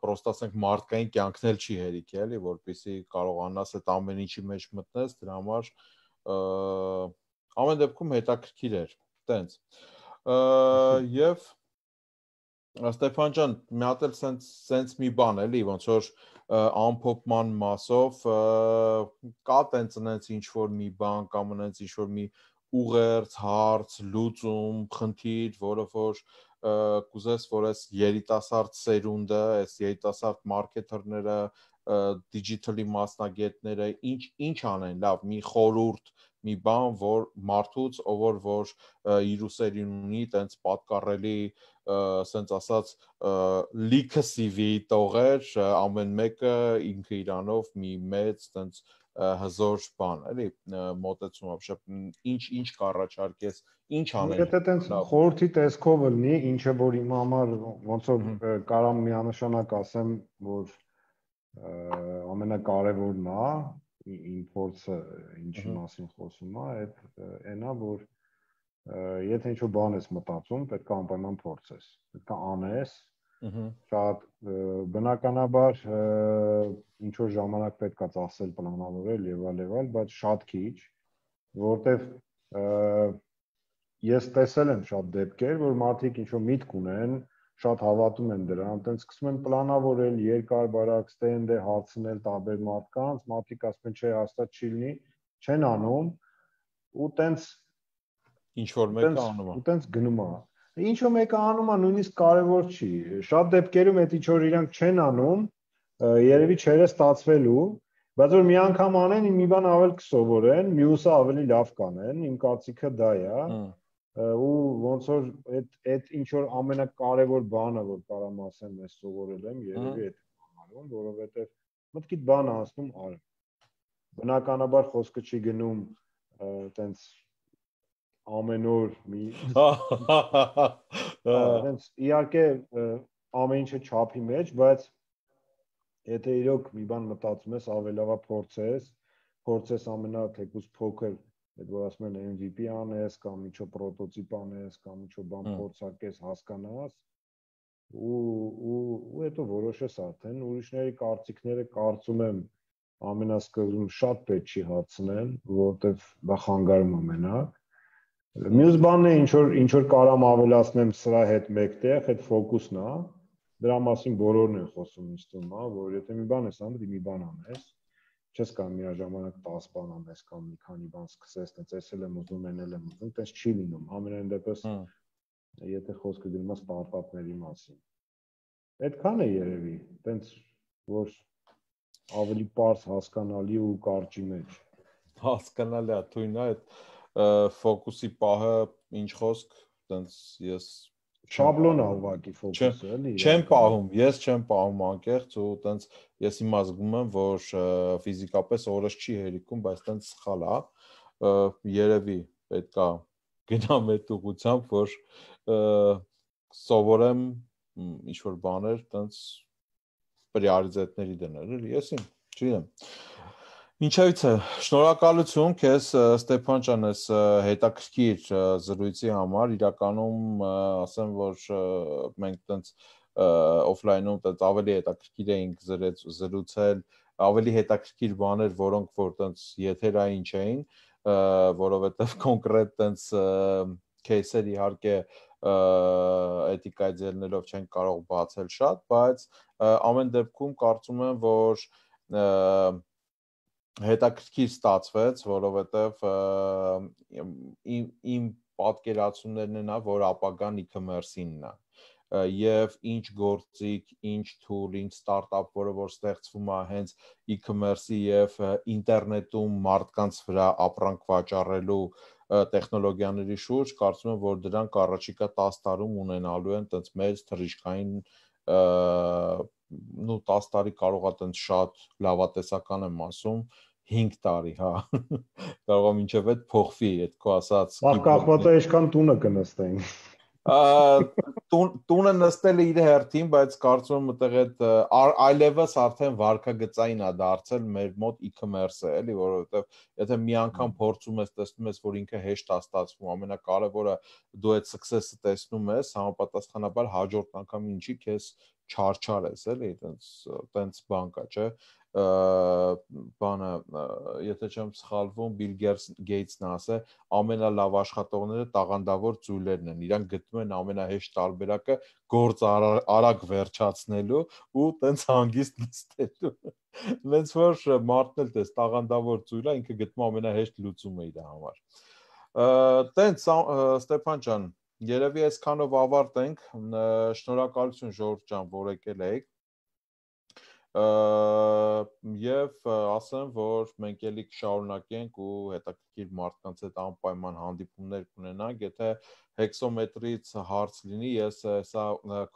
[SPEAKER 1] պրոստը ասենք մարդկային կյանքն էլ չի հերիք էլի, որպեսզի կարողանաս այդ ամեն ինչի մեջ մտնես, դրա համար ամեն դեպքում հետաքրքիր էր, տենց։ Եվ Ստեփան ջան, մի հատ էլ սենց մի բան էլի, ոնց որ ամփոփման մասով կա տենց նենց ինչ որ մի բան կամ նենց ինչ որ մի ուղերձ, հարց, լուծում, խնդիր, որը որ կուզես, որ այս երիտասարդ սերունդը, այս երիտասարդ մարքեթերները, դիջիտալի մասնագետները ինչ ինչ անեն, լավ, մի խորհուրդ, մի բան, որ մարդուց, ով որ որ իր ուսերին ունի, տենց պատկառելի, ասենց ասած, լիքը սի վի տողեր, ամեն մեկը ինքը իրանով մի մեծ տենց հզոր բան, էլի, մոտեցում ապշեպ, ինչ ինչ կառաջարկես, ինչ անել։
[SPEAKER 2] Եթե տենց խորհրդի տեսքով լինի, ինչը որ իմ համար ոնց որ կարամ միանշանակ ասեմ, որ ամենակարևորն է, իմ փորձը ինչի մասին խոսում է, այդ այն է, որ եթե ինչ-որ բան ես մտածում, պետք է անպայման փորձես, պետք է անես, շատ բնականաբար ինչ-որ ժամանակ պետք է ծախսել, պլանավորել եւ այլ եւ այլ, բայց շատ քիչ, որտեվ ես տեսել եմ շատ դեպքեր, որ մարդիկ ինչ-որ միտք ունեն, շատ հավատում են դրան, այտենց սկսում են պլանավորել, երկար բարակ ստենդը հարցնել տարբեր մարդկանց, մարդիկ ասում են, չէ, հաստատ չի լինի, չեն անում, ու տենց
[SPEAKER 1] ինչ որ մեկը անում է։
[SPEAKER 2] Ու տենց գնում է։ Ինչ որ մեկը անում է, նույնիսկ կարևոր չի։ Շատ դեպքերում այդ ինչ որ իրանք չեն անում, երևի չէր ստացվելու, բայց որ մի անգամ անեն, մի բան ավել կսովորեն, մյուսը ավելի լավ կանեն, իմ կարծիքը դա է։ Ու ոնց որ այդ այդ ինչ որ ամենակարևոր բանը, որ կարամ ասեմ, ես սովորել եմ, երևի այդ բանալում, որովհետև մտքիդ բան անցնում ար։ Բնականաբար խոսքը չի գնում տենց ամեն օր մի տենց իհարկե ամեն ինչը չափի մեջ, բայց եթե իրոք մի բան մտածում ես, ավելավա փորձես, փորձես ամենա թեկուզ փոքր, այդ որ ասում են էմ վի պի անես, կամ ինչ-որ պրոտոտիպ անես, կամ ինչ-որ բան փորձարկես, հասկանաս, ու ու հետո որոշես արդեն, ուրիշների կարծիքները կարծում եմ ամենասկզբում շատ պետք չի հարցնել, որովհետև դա խանգարում է մենակ։ Մյուս բանն է, ինչ որ ինչ որ կարամ ավելացնեմ սրա հետ մեկտեղ, այդ ֆոկուսն է, դրա մասին բոլորն են խոսում ինձ թվում է, որ եթե մի բան ես անում, մի բան անես, չես կարող միաժամանակ տասը բան անես կամ մի քանի բան սկսես, տենց էսել եմ ուզում, էնել եմ ուզում, տենց չի լինում, ամենայն դեպս եթե խոսքը գնում է ստարտափների մասին։ Այդքան է երևի, տենց որ ավելի པարզ հասկանալի ու կարճի մեջ։
[SPEAKER 1] Հասկանալի է, թույն է այդ ֆոկուսի պահը ինչ խոսք, տենց ես
[SPEAKER 2] շաբլոն է ուղղակի ֆոկուսը, էլի։
[SPEAKER 1] Չեմ պահում, ես չեմ պահում անկեղծ ու տենց ես հիմա զգում եմ, որ ֆիզիկապես օրս չի հերիքում, բայց տենց սխալ է, երևի պետք է գնամ այդ ուղղությամբ, որ սովորեմ ինչ-որ բաներ տենց պրիորիտետների դնել, էլի, ես իմ, չգիտեմ։ Ինչևից է, շնորհակալություն քեզ Ստեփան ջան, այս հետաքրքիր զրույցի համար, իրականում ասեմ, որ մենք տենց օֆլայնում տենց ավելի հետաքրքիր էինք զրուցել, ավելի հետաքրքիր բաներ, որոնք որ տենց եթերային չէին, որովհետև կոնկրետ տենց кейսեր իհարկե էթիկայի ձեռնելով չենք կարող բացել շատ, բայց ամեն դեպքում կարծում եմ, որ հետաքրքիր ստացվեց, որովհետև իմ իմ պատկերացումներն են, որ ապագան e-commerce-ինն է, եւ ինչ գործիք, ինչ tool, ինչ ստարտափ, որը որ ստեղծվում է հենց e-commerce-ի եւ ինտերնետում մարդկանց վրա ապրանք վաճառելու տեխնոլոգիաների շուրջ, կարծում եմ, որ դրանք առաջիկա տասը տարում ունենալու են տենց մեծ թռիչքային նու տասը տարի կարող է տենց շատ լավատեսական եմ ասում, հինգ տարի, հա, կարող է մինչև այդ փոխվի, այդ քո ասած
[SPEAKER 2] կախված է ինչքան տունը կնստեն։
[SPEAKER 1] Տունը նստել է իր հերթին, բայց կարծում եմ այդտեղ այդ այլևս արդեն վարկագծային է դարձել մեր մոտ e-commerce-ը, էլի, որովհետև եթե մի անգամ փորձում ես, տեսնում ես, որ ինքը հեշտ է ստացվում, ամենակարևորը դու այդ success-ը տեսնում ես, համապատասխանաբար հաջորդ անգամ ինչի քեզ չարչար ես, էլի, տենց տենց բան կա, չէ՞։ Բանը, եթե չեմ սխալվում, Bill Gates-ն ասել, ամենալավ աշխատողները տաղանդավոր ծույլերն են, իրանք գտնում են ամենահեշտ տարբերակը գործ արագ վերջացնելու ու տենց հանգիստ նստելու։ Ոնց որ մարդն էլ տես տաղանդավոր ծույլը, ինքը գտնում ամենահեշտ լուծումը իր համար։ Տենց Ստեփան ջան, երևի այսքանով ավարտենք, շնորհակալություն Ժորժ ջան, որ եկել եք։ Եվ ասեմ, որ մենք էլի կշարունակենք ու հետաքրքիր մարդկանց հետ անպայման հանդիպումներ կունենանք, եթե հեքսոմետրից հարց լինի, ես սա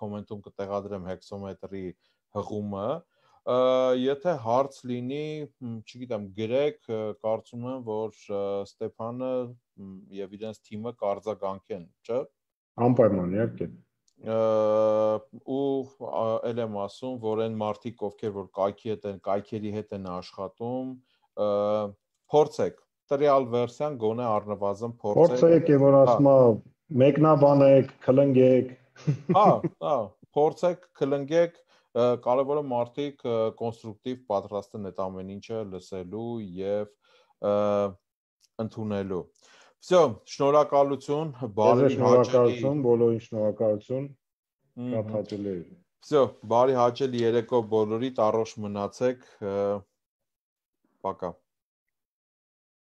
[SPEAKER 1] կոմենտում կտեղադրեմ հեքսոմետրի հղումը, եթե հարց լինի, չգիտեմ, գրեք, կարծում եմ, որ Ստեփանը եւ իրենց թիմը կարձագանքեն, չէ՞։
[SPEAKER 2] Անպայման, իհարկե։
[SPEAKER 1] Ու էլ եմ ասում, որ այն մարդիկ, ովքեր որ կայքի հետ են, կայքերի հետ են աշխատում, փորձեք, տրիալ վերսիան գոնե առնվազն փորձեք։
[SPEAKER 2] Փորձեք եւ որ ասում է մեկնաբանեք, քլնգեք։
[SPEAKER 1] Հա, հա, փորձեք, քլնգեք, կարևորը մարդիկ կոնստրուկտիվ պատրաստ են այդ ամեն ինչը լսելու եւ ընդունելու։ Всё, շնորհակալություն, բարի
[SPEAKER 2] հաճելի։ Բոլորին շնորհակալություն։ Շատ հաճելի էր։
[SPEAKER 1] Всё, բարի հաճելի երեկո բոլորիդ, առողջ մնացեք։ Пока։